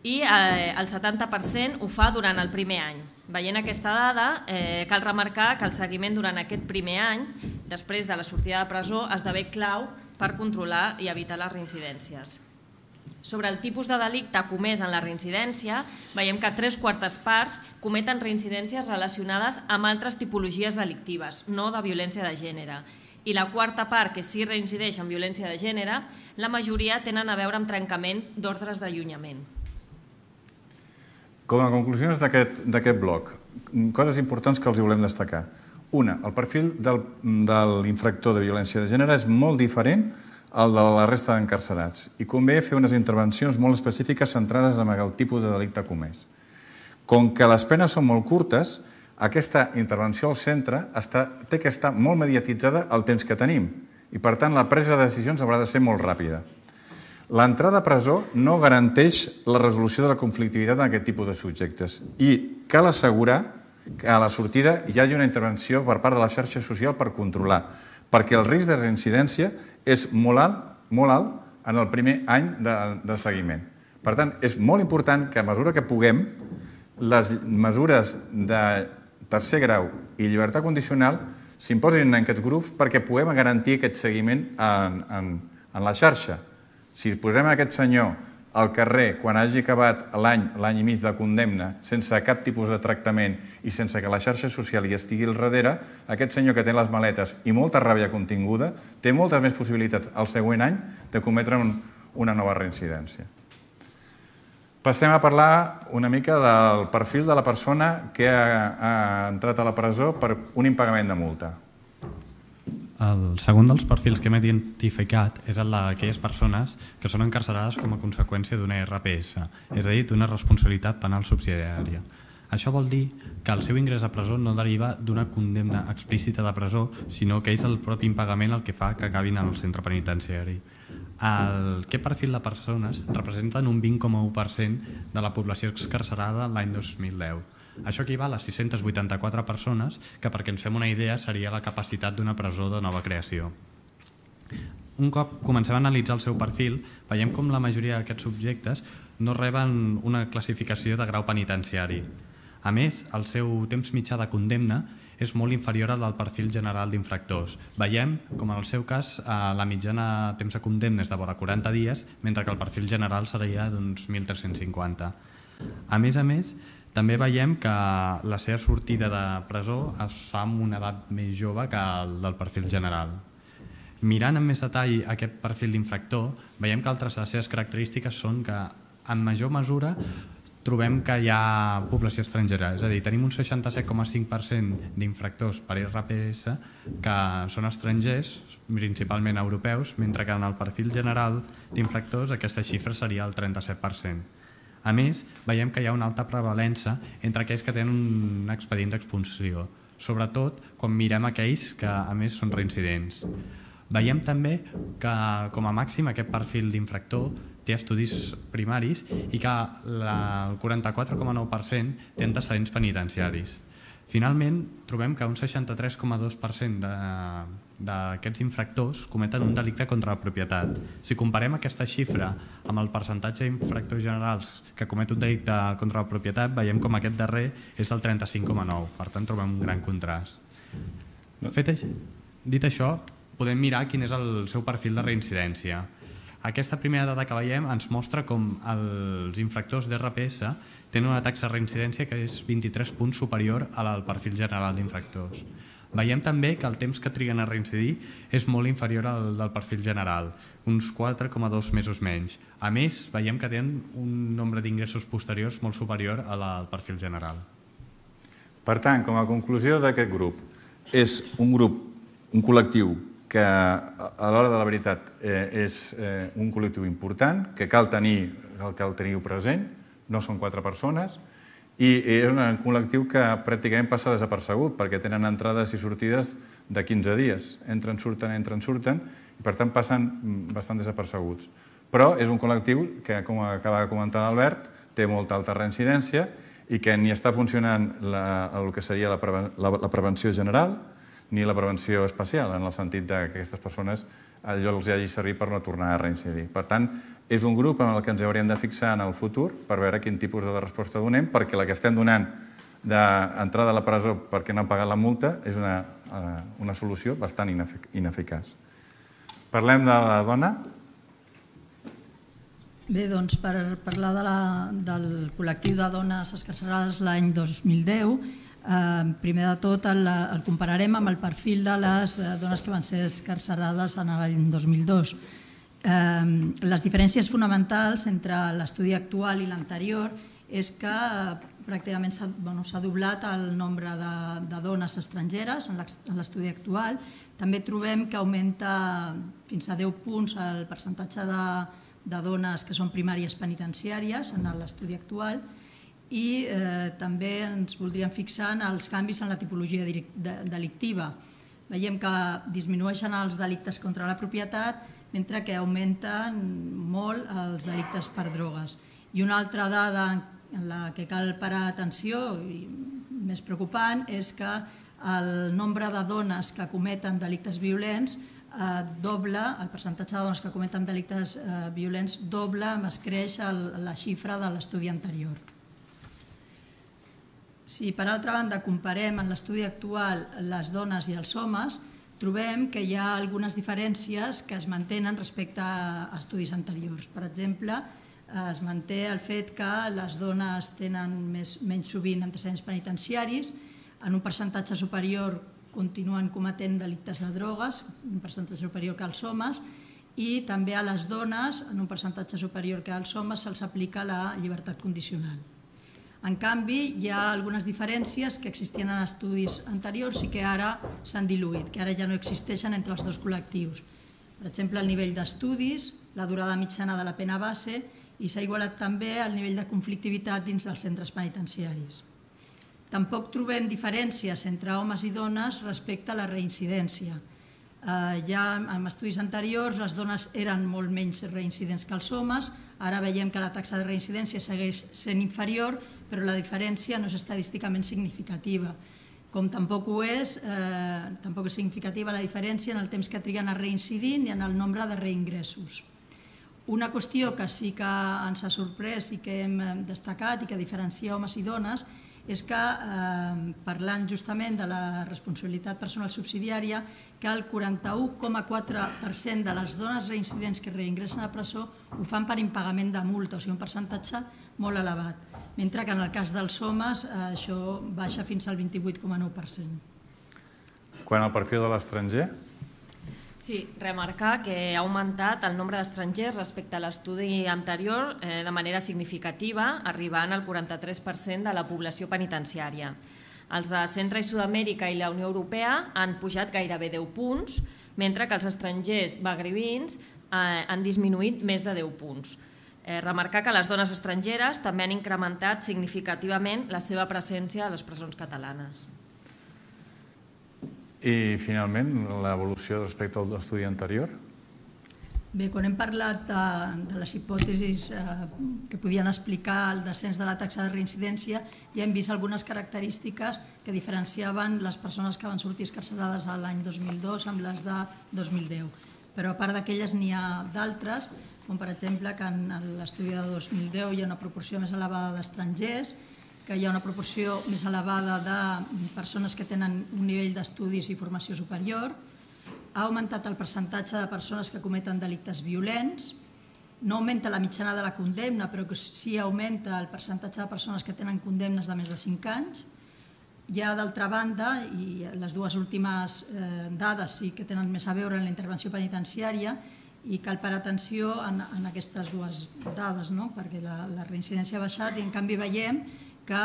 i eh, el setanta per cent ho fa durant el primer any. Veient aquesta dada, eh, cal remarcar que el seguiment durant aquest primer any, després de la sortida de presó, esdevé clau per controlar i evitar les reincidències. Sobre el tipus de delicte comès en la reincidència, veiem que tres quartes parts cometen reincidències relacionades amb altres tipologies delictives, no de violència de gènere. I la quarta part, que sí reincideix en violència de gènere, la majoria tenen a veure amb trencament d'ordres d'allunyament. Com a conclusions d'aquest bloc, coses importants que els hi volem destacar. Una, el perfil del, de l'infractor de violència de gènere és molt diferent al de la resta d'encarcerats i convé fer unes intervencions molt específiques centrades en el tipus de delicte comès. Com que les penes són molt curtes, aquesta intervenció al centre té que estar molt mediatitzada el temps que tenim i, per tant, la presa de decisions haurà de ser molt ràpida. L'entrada a presó no garanteix la resolució de la conflictivitat en aquest tipus de subjectes i cal assegurar que a la sortida hi hagi una intervenció per part de la xarxa social per controlar, perquè el risc de reincidència és molt alt, molt alt en el primer any de, de seguiment. Per tant, és molt important que a mesura que puguem, les mesures de tercer grau i llibertat condicional s'imposin en aquests grups perquè puguem garantir aquest seguiment en, en, en la xarxa. Si posem aquest senyor al carrer quan hagi acabat l'any, l'any i mig de condemna, sense cap tipus de tractament i sense que la xarxa social hi estigui al darrere, aquest senyor que té les maletes i molta ràbia continguda té moltes més possibilitats al següent any de cometre un, una nova reincidència. Passem a parlar una mica del perfil de la persona que ha, ha entrat a la presó per un impagament de multa. El segon dels perfils que hem identificat és el d'aquelles persones que són encarcerades com a conseqüència d'una R P S, és a dir, d'una responsabilitat penal subsidiària. Això vol dir que el seu ingrés a presó no deriva d'una condemna explícita de presó, sinó que és el propi impagament el que fa que acabin al centre penitenciari. Aquest perfil de persones representen un vint coma u per cent de la població excarcerada l'any dos mil deu. Això equival a sis-centes vuitanta-quatre persones, que perquè ens fem una idea seria la capacitat d'una presó de nova creació. Un cop comencem a analitzar el seu perfil, veiem com la majoria d'aquests subjectes no reben una classificació de grau penitenciari. A més, el seu temps mitjà de condemna és molt inferior al del perfil general d'infractors. Veiem, com en el seu cas, la mitjana temps de condemna és de vora quaranta dies, mentre que el perfil general seria d'uns mil tres-cents cinquanta. A més a més, també veiem que la seva sortida de presó es fa amb una edat més jove que el del perfil general. Mirant amb més detall aquest perfil d'infractor, veiem que altres de les seves característiques són que en major mesura trobem que hi ha població estrangera, és a dir, tenim un seixanta-set coma cinc per cent d'infractors per R P S que són estrangers, principalment europeus, mentre que en el perfil general d'infractors aquesta xifra seria el trenta-set per cent. A més, veiem que hi ha una alta prevalença entre aquells que tenen un expedient d'expulsió, sobretot quan mirem aquells que a més són reincidents. Veiem també que com a màxim aquest perfil d'infractor té estudis primaris i que el quaranta-quatre coma nou per cent té antecedents penitenciaris. Finalment, trobem que un seixanta-tres coma dos per cent d'aquests infractors cometen un delicte contra la propietat. Si comparem aquesta xifra amb el percentatge d'infractors generals que comet un delicte contra la propietat, veiem com aquest darrer és el trenta-cinc coma nou. Per tant, trobem un gran contrast. Fet això, dit això, podem mirar quin és el seu perfil de reincidència. Aquesta primera dada que veiem ens mostra com els infractors d'R P S tenen una taxa de reincidència que és vint-i-tres punts superior a la del perfil general d'infractors. Veiem també que el temps que triguen a reincidir és molt inferior al del perfil general, uns quatre coma dos mesos menys. A més, veiem que tenen un nombre d'ingressos posteriors molt superior a la del perfil general. Per tant, com a conclusió d'aquest grup, és un grup, un col·lectiu que a l'hora de la veritat és un col·lectiu important, que cal tenir, cal tenir-ho present, no són quatre persones, i és un col·lectiu que pràcticament passa desapercebut, perquè tenen entrades i sortides de quinze dies. Entren, surten, entren, surten, i per tant passen bastant desapercebuts. Però és un col·lectiu que, com acaba de comentar l'Albert, té molta alta reincidència i que ni està funcionant el que seria la prevenció general ni la prevenció especial, en el sentit que aquestes persones allò els hagi servit per no tornar a reincidir. Per tant, és un grup en el que ens hauríem de fixar en el futur per veure quin tipus de resposta donem, perquè la que estem donant d'entrada a la presó perquè no han pagat la multa és una, una solució bastant ineficaç. Parlem de la dona. Bé, doncs, per parlar de la, del col·lectiu de dones excarcerades l'any dos mil deu, Eh, primer de tot el, el compararem amb el perfil de les dones que van ser excarcerades en l'any dos mil dos. Eh, les diferències fonamentals entre l'estudi actual i l'anterior és que pràcticament s'ha bueno, s'ha doblat el nombre de, de dones estrangeres en l'estudi actual. També trobem que augmenta fins a deu punts el percentatge de, de dones que són primàries penitenciàries en l'estudi actual. I eh, també ens voldríem fixar en els canvis en la tipologia delictiva. Veiem que disminueixen els delictes contra la propietat, mentre que augmenten molt els delictes per drogues. I una altra dada en la que cal parar atenció, i més preocupant, és que el nombre de dones que cometen delictes violents doble, el percentatge de dones que cometen delictes violents doble, es creix la xifra de l'estudi anterior. Si per altra banda comparem en l'estudi actual les dones i els homes, trobem que hi ha algunes diferències que es mantenen respecte a estudis anteriors. Per exemple, es manté el fet que les dones tenen menys sovint antecedents penitenciaris, en un percentatge superior continuen cometent delictes de drogues, un percentatge superior que als homes, i també a les dones, en un percentatge superior que als homes, se'ls aplica la llibertat condicional. En canvi, hi ha algunes diferències que existien en estudis anteriors i que ara s'han diluït, que ara ja no existeixen entre els dos col·lectius. Per exemple, el nivell d'estudis, la durada mitjana de la pena base, i s'ha igualat també el nivell de conflictivitat dins dels centres penitenciaris. Tampoc trobem diferències entre homes i dones respecte a la reincidència. Ja en estudis anteriors les dones eren molt menys reincidents que els homes, ara veiem que la taxa de reincidència segueix sent inferior, però la diferència no és estadísticament significativa. Com tampoc ho és, tampoc és significativa la diferència en el temps que triguen a reincidir ni en el nombre de reingressos. Una qüestió que sí que ens ha sorprès i que hem destacat i que diferencia homes i dones és que, parlant justament de la responsabilitat personal subsidiària, que el quaranta-u coma quatre per cent de les dones reincidents que reingressen a presó ho fan per impagament de multa, o sigui, un percentatge molt elevat, mentre que en el cas dels homes això baixa fins al vint-i-vuit coma nou per cent. Quant al perfil de l'estranger? Sí, remarcar que ha augmentat el nombre d'estrangers respecte a l'estudi anterior de manera significativa, arribant al quaranta-tres per cent de la població penitenciària. Els de Centre i Sud-amèrica i la Unió Europea han pujat gairebé deu punts, mentre que els estrangers magribins han disminuït més de deu punts. Remarcar que les dones estrangeres també han incrementat significativament la seva presència a les presons catalanes. I, finalment, l'evolució respecte a l'estudi anterior? Bé, quan hem parlat de les hipòtesis que podien explicar el descens de la taxa de reincidència, ja hem vist algunes característiques que diferenciaven les persones que van sortir excarcerades l'any dos mil dos amb les de dos mil deu. Però a part d'aquelles n'hi ha d'altres, com per exemple que en l'estudi de dos mil deu hi ha una proporció més elevada d'estrangers, que hi ha una proporció més elevada de persones que tenen un nivell d'estudis i formació superior, ha augmentat el percentatge de persones que cometen delictes violents, no augmenta la mitjana de la condemna, però que sí augmenta el percentatge de persones que tenen condemnes de més de cinc anys. Hi ha, d'altra banda, i les dues últimes dades sí que tenen més a veure amb la intervenció penitenciària, i cal parar atenció en aquestes dues dades, perquè la reincidència ha baixat i en canvi veiem que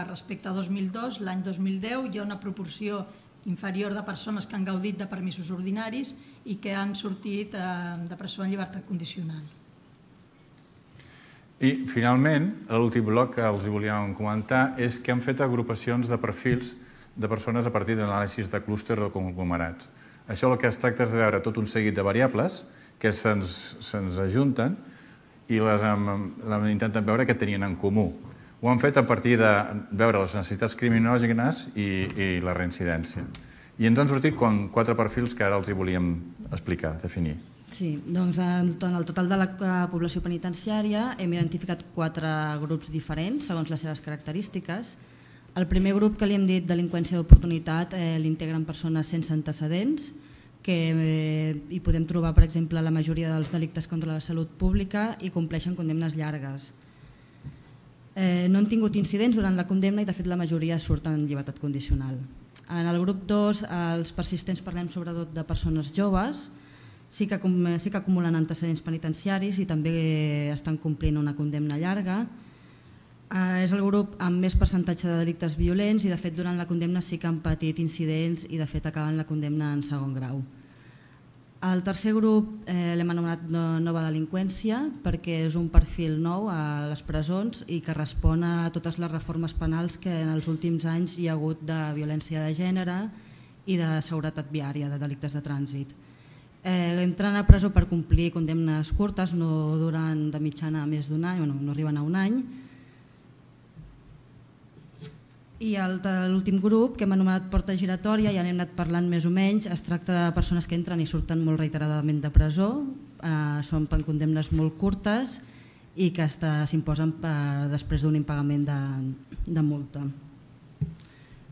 respecte a dos mil dos, l'any dos mil deu, hi ha una proporció inferior de persones que han gaudit de permisos ordinaris i que han sortit de presó en llibertat condicional. I, finalment, l'últim bloc que els volíem comentar és que han fet agrupacions de perfils de persones a partir d'anàlisis de clúster o conglomerats. Això el que es tracta és de veure tot un seguit de variables que se'ns ajunten i les intenten veure què tenien en comú. Ho han fet a partir de veure les necessitats criminògenes i la reincidència. I ens han sortit quatre perfils que ara els hi volíem explicar, definir. Sí, doncs en el total de la població penitenciària hem identificat quatre grups diferents segons les seves característiques. El primer grup que li hem dit delinqüència d'oportunitat l'integren persones sense antecedents, que hi podem trobar, per exemple, la majoria dels delictes contra la salut pública i compleixen condemnes llargues. No han tingut incidents durant la condemna i de fet la majoria surten en llibertat condicional. En el grup dos, els persistents, parlem sobretot de persones joves, sí que acumulen antecedents penitenciaris i també estan complint una condemna llarga. És el grup amb més percentatge de delictes violents i de fet durant la condemna sí que han patit incidents i de fet acaben la condemna en segon grau. El tercer grup l'hem anomenat nova delinqüència perquè és un perfil nou a les presons i que respon a totes les reformes penals que en els últims anys hi ha hagut de violència de gènere i de seguretat viària, de delictes de trànsit. Eh, entren a presó per complir condemnes curtes, no duran de mitjana més d'un any, bueno, no arriben a un any. I l'últim grup, que hem anomenat porta giratòria, ja n'hem anat parlant més o menys, es tracta de persones que entren i surten molt reiteradament de presó, eh, són per condemnes molt curtes i que s'imposen després d'un impagament de, de multa.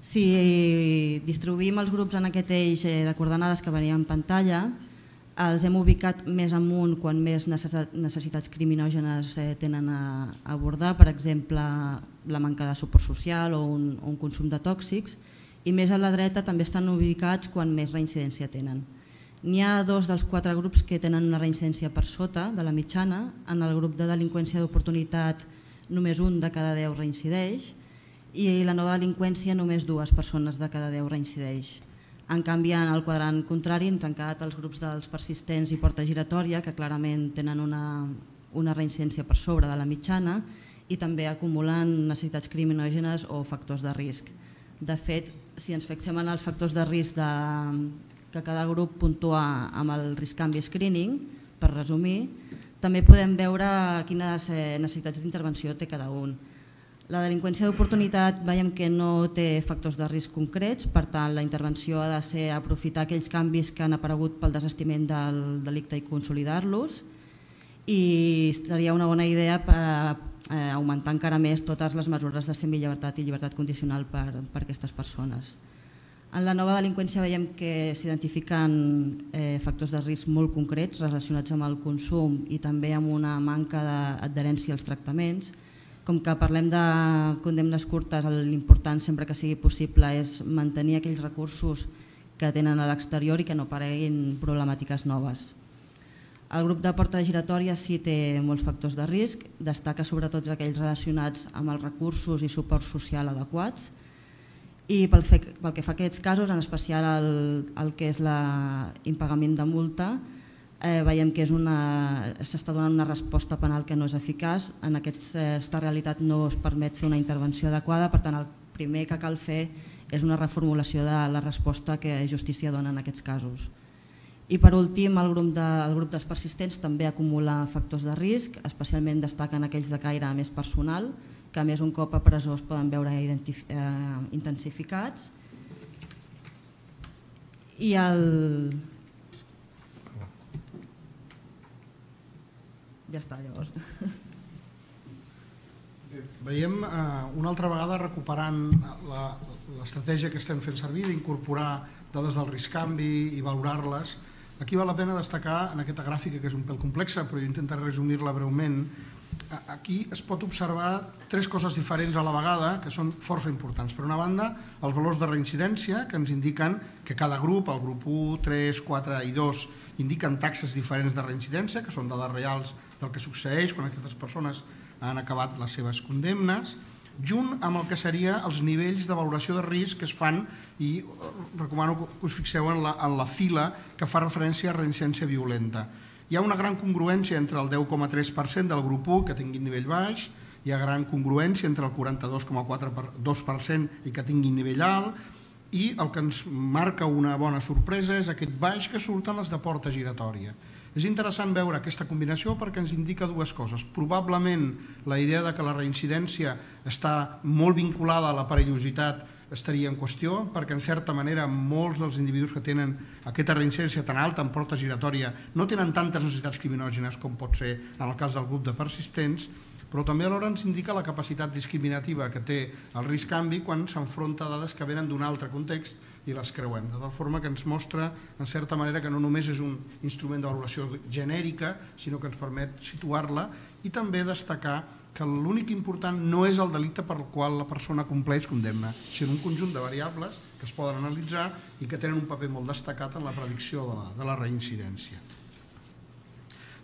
Si distribuïm els grups en aquest eix de coordenades que venia en pantalla, els hem ubicat més amunt quan més necessitats criminògenes tenen a abordar, per exemple, la manca de suport social o un, un consum de tòxics, i més a la dreta també estan ubicats quan més reincidència tenen. N'hi ha dos dels quatre grups que tenen una reincidència per sota de la mitjana. En el grup de delinqüència d'oportunitat només un de cada deu reincideix i la nova delinqüència només dues persones de cada deu reincideix. En canvi, en el quadrant contrari ens han quedat els grups dels persistents i porta giratòria, que clarament tenen una, una reincidència per sobre de la mitjana i també acumulen necessitats criminògenes o factors de risc. De fet, si ens fixem en els factors de risc de, que cada grup puntua amb el risc canvi screening, per resumir, també podem veure quines necessitats d'intervenció té cada un. La delinqüència d'oportunitat veiem que no té factors de risc concrets, per tant la intervenció ha de ser aprofitar aquells canvis que han aparegut pel desestiment del delicte i consolidar-los, i seria una bona idea per eh, augmentar encara més totes les mesures de semillibertat i llibertat condicional per, per aquestes persones. En la nova delinqüència veiem que s'identifiquen eh, factors de risc molt concrets relacionats amb el consum i també amb una manca d'adherència als tractaments. Com que parlem de condemnes curtes, l'important sempre que sigui possible és mantenir aquells recursos que tenen a l'exterior i que no apareguin problemàtiques noves. El grup de porta giratòria sí té molts factors de risc, destaca sobretot aquells relacionats amb els recursos i suport social adequats, i pel, fe, pel que fa a aquests casos, en especial el, el que és l'impagament de multa, Eh, veiem que s'està donant una resposta penal que no és eficaç. En aquesta realitat no es permet fer una intervenció adequada, per tant el primer que cal fer és una reformulació de la resposta que justícia dona en aquests casos. I per últim, el grup, de, el grup dels persistents també acumula factors de risc, especialment destaquen aquells de caire més personal, que a més un cop a presó es poden veure eh, intensificats. I el... Ja està, llavors. Veiem eh, una altra vegada recuperant l'estratègia que estem fent servir d'incorporar dades del risc canvi i valorar-les. Aquí val la pena destacar en aquesta gràfica, que és un pèl complexa, però jo intentaré resumir-la breument. Aquí es pot observar tres coses diferents a la vegada que són força importants. Per una banda, els valors de reincidència, que ens indiquen que cada grup, el grup u, tres, quatre i dos, indiquen taxes diferents de reincidència, que són dades reals del que succeeix quan aquestes persones han acabat les seves condemnes, junt amb el que seria els nivells de valoració de risc que es fan, i recomano que us fixeu en la, en la fila que fa referència a reincidència violenta. Hi ha una gran congruència entre el deu coma tres per cent del grup u, que tingui nivell baix, hi ha gran congruència entre el quaranta-dos coma dos per cent i que tingui nivell alt, i el que ens marca una bona sorpresa és aquest baix que surten les de porta giratòria. És interessant veure aquesta combinació perquè ens indica dues coses. Probablement la idea de que la reincidència està molt vinculada a la perillositat estaria en qüestió, perquè en certa manera molts dels individus que tenen aquesta reincidència tan alta en porta giratòria no tenen tantes necessitats criminògenes com pot ser en el cas del grup de persistents, però també alhora ens indica la capacitat discriminativa que té el risc canvi quan s'enfronta a dades que venen d'un altre context i les creuem, de tal forma que ens mostra en certa manera que no només és un instrument de valoració genèrica, sinó que ens permet situar-la i també destacar que l'únic important no és el delicte per al qual la persona compleix condemna, sinó un conjunt de variables que es poden analitzar i que tenen un paper molt destacat en la predicció de la, de la reincidència.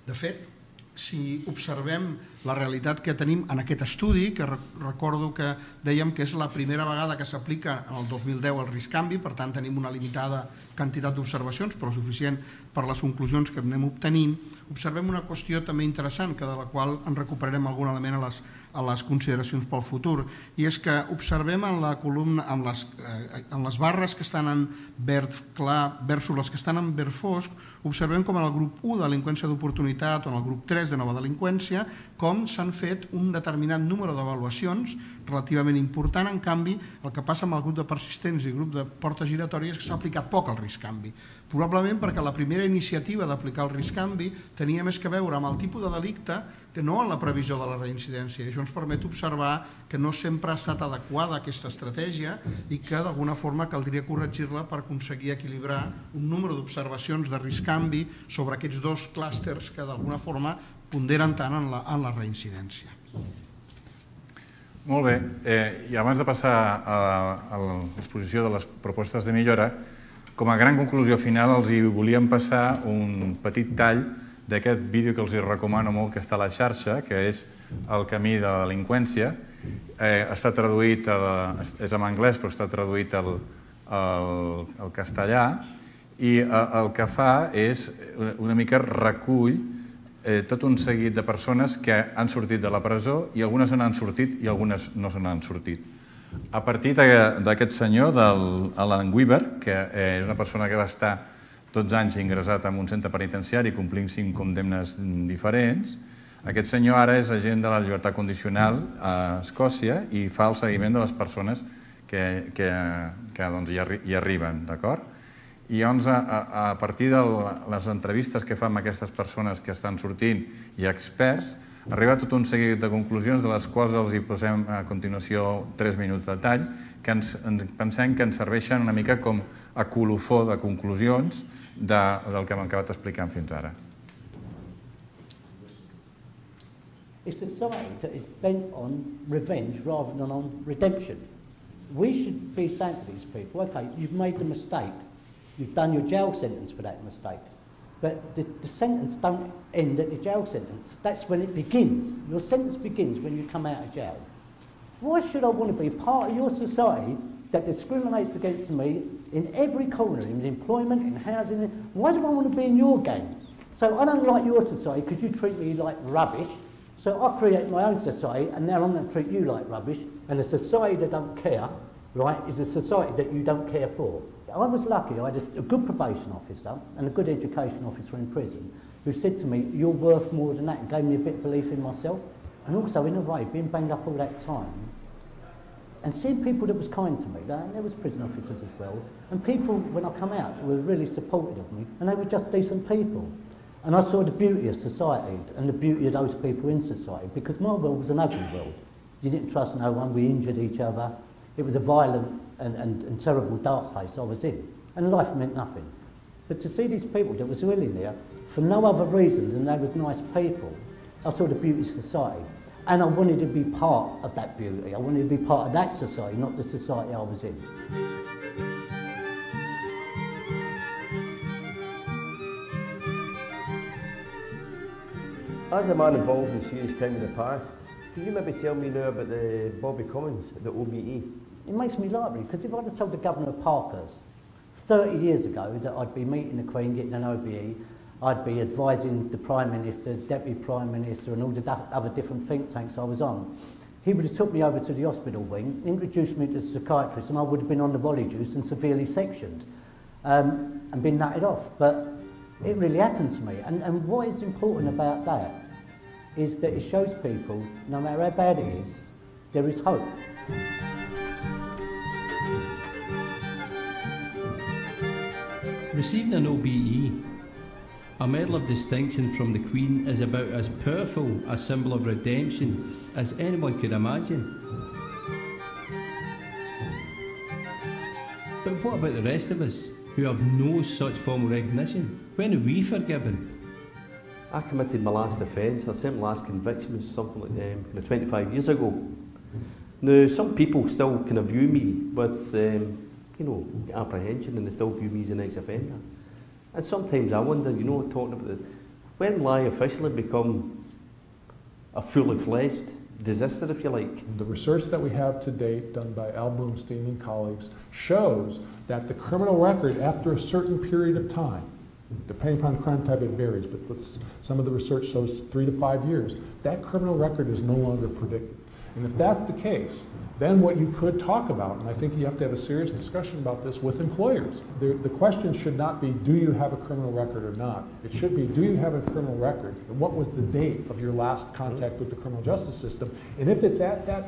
De fet, si observem la realitat que tenim en aquest estudi, que recordo que dèiem que és la primera vegada que s'aplica en el dos mil deu el risc canvi, per tant tenim una limitada quantitat d'observacions, però suficient per les conclusions que anem obtenint, observem una qüestió també interessant, que de la qual en recuperarem algun element a les, a les consideracions pel futur, i és que observem en la columna, en les, eh, en les barres que estan en verd clar versus les que estan en verd fosc, observem com en el grup u de delinqüència d'oportunitat o en el grup tres de nova delinqüència, com s'han fet un determinat número d'avaluacions relativament important. En canvi, el que passa amb el grup de persistents i el grup de portes giratòries és que s'ha aplicat poc el risc canvi. Probablement perquè la primera iniciativa d'aplicar el risc canvi tenia més que veure amb el tipus de delicte que no en la previsió de la reincidència. Això ens permet observar que no sempre ha estat adequada aquesta estratègia i que d'alguna forma caldria corregir-la per aconseguir equilibrar un número d'observacions de risc canvi sobre aquests dos clústers que d'alguna forma ponderen tant en la, en la reincidència. Molt bé, eh, i abans de passar a, a l'exposició de les propostes de millora, com a gran conclusió final els hi volíem passar un petit tall d'aquest vídeo que els hi recomano molt, que està a la xarxa, que és El camí de la delinqüència. Eh, està traduït, a, és en anglès, però està traduït al, al, al castellà, i el que fa és una mica recull eh, tot un seguit de persones que han sortit de la presó i algunes n'han sortit i algunes no se n'han sortit. A partir d'aquest senyor, d'Alan Weaver, que és una persona que va estar dotze anys ingressat en un centre penitenciari complint cinc condemnes diferents, aquest senyor ara és agent de la llibertat condicional a Escòcia i fa el seguiment de les persones que, que, que doncs, hi, arri hi arriben, d'acord? I llavors, a, a partir de les entrevistes que fa amb aquestes persones que estan sortint i experts, arriba tot un seguit de conclusions de les quals els hi posem a continuació tres minuts de tall, que ens, ens pensem que ens serveixen una mica com a colofó de conclusions de, del que hem acabat explicant fins ara. It's a society that is bent on revenge rather than on redemption. We should be saying to these people, okay, you've made the mistake, you've done your jail sentence for that mistake. But the, the sentence don't end at the jail sentence. That's when it begins. Your sentence begins when you come out of jail. Why should I want to be part of your society that discriminates against me in every corner, in employment, in housing? Why do I want to be in your gang? So I don't like your society because you treat me like rubbish. So I create my own society, and now I'm going to treat you like rubbish. And a society that don't care, right, is a society that you don't care for. I was lucky. I had a, a good probation officer and a good education officer in prison who said to me, you're worth more than that, and gave me a bit of belief in myself. And also, in a way, being banged up all that time and seeing people that was kind to me, and there was prison officers as well, and people, when I come out, were really supportive of me, and they were just decent people. And I saw the beauty of society and the beauty of those people in society, because my world was an ugly world. You didn't trust no one, we injured each other. It was a violent and, and, and terrible dark place I was in, and life meant nothing. But to see these people that was really there for no other reason than they was nice people, I saw the beauty of society. And I wanted to be part of that beauty. I wanted to be part of that society, not the society I was in. As a man involved in serious crime in the past, can you maybe tell me now about the Bobby Cummins, the O B E? It makes me laugh, because if I'd have told the Governor of Parkhurst thirty years ago that I'd be meeting the Queen, getting an O B E, I'd be advising the Prime Minister, Deputy Prime Minister and all the other different think tanks I was on, he would have took me over to the hospital wing, introduced me to the psychiatrist, and I would have been on the volley juice and severely sectioned um, and been nutted off. But it really happened to me. And, and what is important about that is that it shows people, no matter how bad it is, there is hope. Receiving an O B E, a Medal of Distinction from the Queen, is about as powerful a symbol of redemption as anyone could imagine. But what about the rest of us, who have no such formal recognition? When are we forgiven? I committed my last offence, or certainly last conviction was something like um, kind of twenty-five years ago. Now, some people still kind of view me with, um, you know, apprehension, and they still view me as an ex-offender. And sometimes I wonder, you know, talking about it, when will I officially become a fully fledged disaster, if you like. The research that we have to date, done by Al Bloomstein and colleagues, shows that the criminal record, after a certain period of time, depending upon the crime type, it varies, but let's, some of the research shows three to five years, that criminal record is no longer predictive. And if that's the case, then what you could talk about, and I think you have to have a serious discussion about this with employers. The, the question should not be, do you have a criminal record or not? It should be, do you have a criminal record? And what was the date of your last contact with the criminal justice system? And if it's at that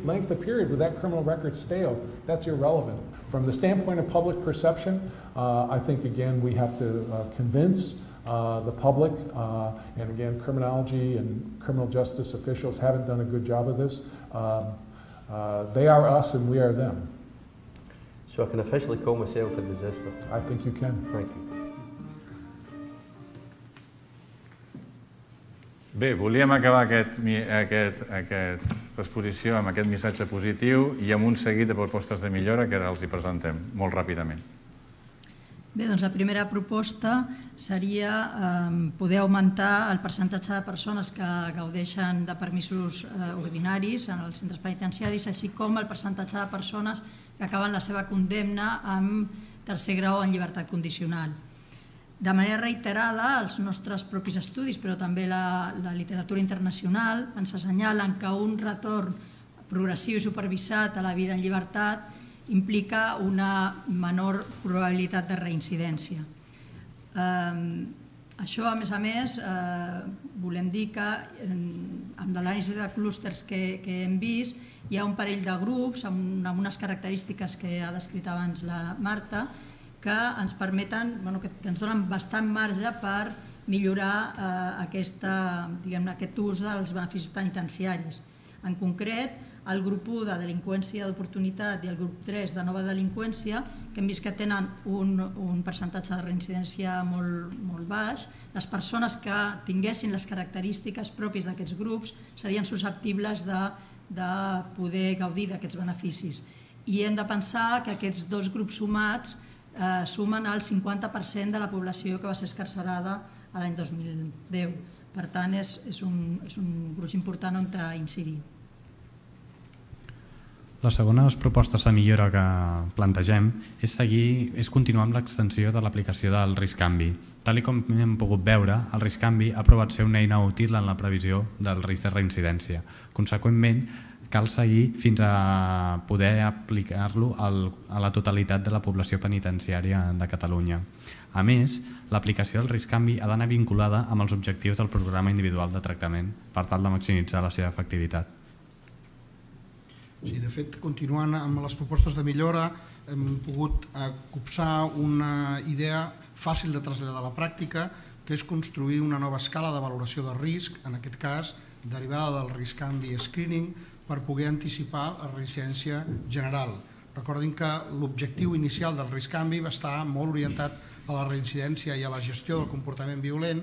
length of period where that criminal record stale, that's irrelevant. From the standpoint of public perception, uh, I think, again, we have to uh, convince uh, the public, uh, and again, criminology and criminal justice officials haven't done a good job of this. Um, uh, they are us and we are them. So I can officially call myself a disaster? I think you can. Thank you. Bé, volíem acabar aquest, aquest, aquesta exposició amb aquest missatge positiu i amb un seguit de propostes de millora que ara els hi presentem molt ràpidament. Bé, doncs la primera proposta seria eh, poder augmentar el percentatge de persones que gaudeixen de permisos eh, ordinaris en els centres penitenciaris, així com el percentatge de persones que acaben la seva condemna amb tercer grau en llibertat condicional. De manera reiterada, els nostres propis estudis, però també la, la literatura internacional, ens assenyalen que un retorn progressiu i supervisat a la vida en llibertat implica una menor probabilitat de reincidència. Eh, això, a més a més, eh, volem dir que amb l'anàlisi de clústers que, que hem vist hi ha un parell de grups amb, amb unes característiques que ha descrit abans la Marta que ens permeten, bueno, que, que ens donen bastant marge per millorar eh, aquesta, diguem-ne, aquest ús dels beneficis penitenciaris. En concret, el grup u de delinqüència d'oportunitat i el grup tres de nova delinqüència, que hem vist que tenen un, un percentatge de reincidència molt, molt baix, les persones que tinguessin les característiques pròpies d'aquests grups serien susceptibles de, de poder gaudir d'aquests beneficis. I hem de pensar que aquests dos grups sumats eh, sumen el cinquanta per cent de la població que va ser escarcerada l'any dos mil deu. Per tant, és, és, un, és un gruix important on incidir. Les segones propostes de millora que plantegem és, seguir, és continuar amb l'extensió de l'aplicació del risc-canvi. Tal com hem pogut veure, el risc-canvi ha provat ser una eina útil en la previsió del risc de reincidència. Conseqüentment, cal seguir fins a poder aplicar-lo a la totalitat de la població penitenciària de Catalunya. A més, l'aplicació del risc-canvi ha d'anar vinculada amb els objectius del programa individual de tractament per tal de maximitzar la seva efectivitat. Sí, de fet, continuant amb les propostes de millora, hem pogut copsar una idea fàcil de traslladar a la pràctica, que és construir una nova escala de valoració de risc, en aquest cas derivada del risc-canvi screening, per poder anticipar la reincidència general. Recordin que l'objectiu inicial del risc-canvi va estar molt orientat a la reincidència i a la gestió del comportament violent,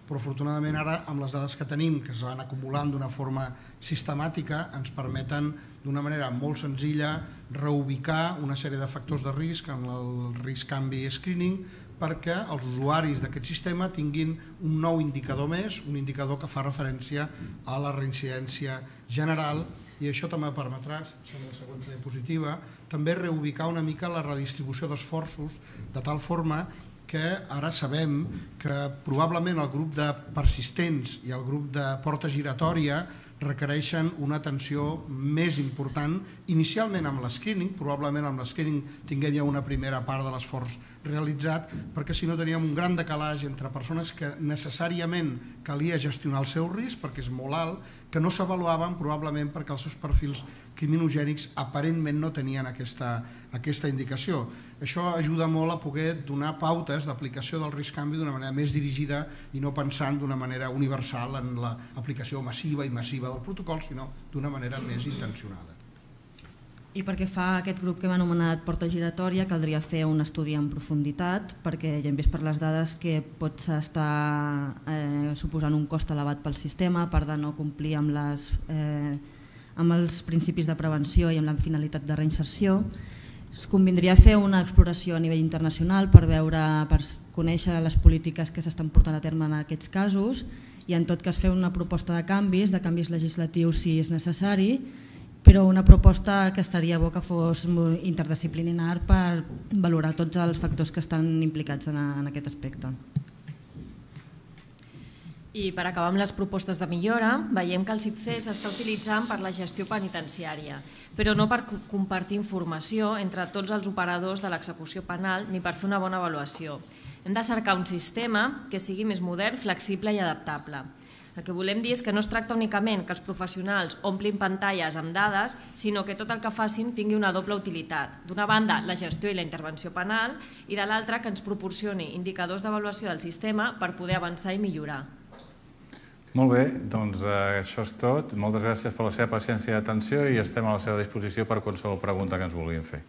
però afortunadament ara, amb les dades que tenim, que es van acumulant d'una forma sistemàtica, ens permeten d'una manera molt senzilla reubicar una sèrie de factors de risc en el risc-canvi screening perquè els usuaris d'aquest sistema tinguin un nou indicador més, un indicador que fa referència a la reincidència general, i això també permetrà, en la següent diapositiva, també reubicar una mica la redistribució d'esforços de tal forma que ara sabem que probablement el grup de persistents i el grup de porta giratòria requereixen una atenció més important, inicialment amb l'escreening, probablement amb l'escreening tinguem ja una primera part de l'esforç realitzat, perquè si no teníem un gran decalatge entre persones que necessàriament calia gestionar el seu risc, perquè és molt alt, que no s'avaluaven probablement perquè els seus perfils criminogènics aparentment no tenien aquesta, aquesta indicació. Això ajuda molt a poder donar pautes d'aplicació del risc-canvi d'una manera més dirigida i no pensant d'una manera universal en l'aplicació massiva i massiva del protocol, sinó d'una manera més intencionada. I perquè fa aquest grup que hem anomenat porta giratòria caldria fer un estudi en profunditat perquè ja hem vist per les dades que pot estar eh, suposant un cost elevat pel sistema per de no complir amb, les, eh, amb els principis de prevenció i amb la finalitat de reinserció. Es convindria fer una exploració a nivell internacional per veure, per conèixer les polítiques que s'estan portant a terme en aquests casos i en tot cas fer una proposta de canvis, de canvis legislatius si és necessari, però una proposta que estaria bo que fos interdisciplinar per valorar tots els factors que estan implicats en aquest aspecte. I per acabar amb les propostes de millora, veiem que el C I P C s'està utilitzant per la gestió penitenciària, però no per compartir informació entre tots els operadors de l'execució penal ni per fer una bona avaluació. Hem de cercar un sistema que sigui més modern, flexible i adaptable. El que volem dir és que no es tracta únicament que els professionals omplin pantalles amb dades, sinó que tot el que facin tingui una doble utilitat. D'una banda, la gestió i la intervenció penal, i de l'altra, que ens proporcioni indicadors d'avaluació del sistema per poder avançar i millorar. Molt bé, doncs això és tot. Moltes gràcies per la seva paciència i atenció i estem a la seva disposició per qualsevol pregunta que ens vulguin fer.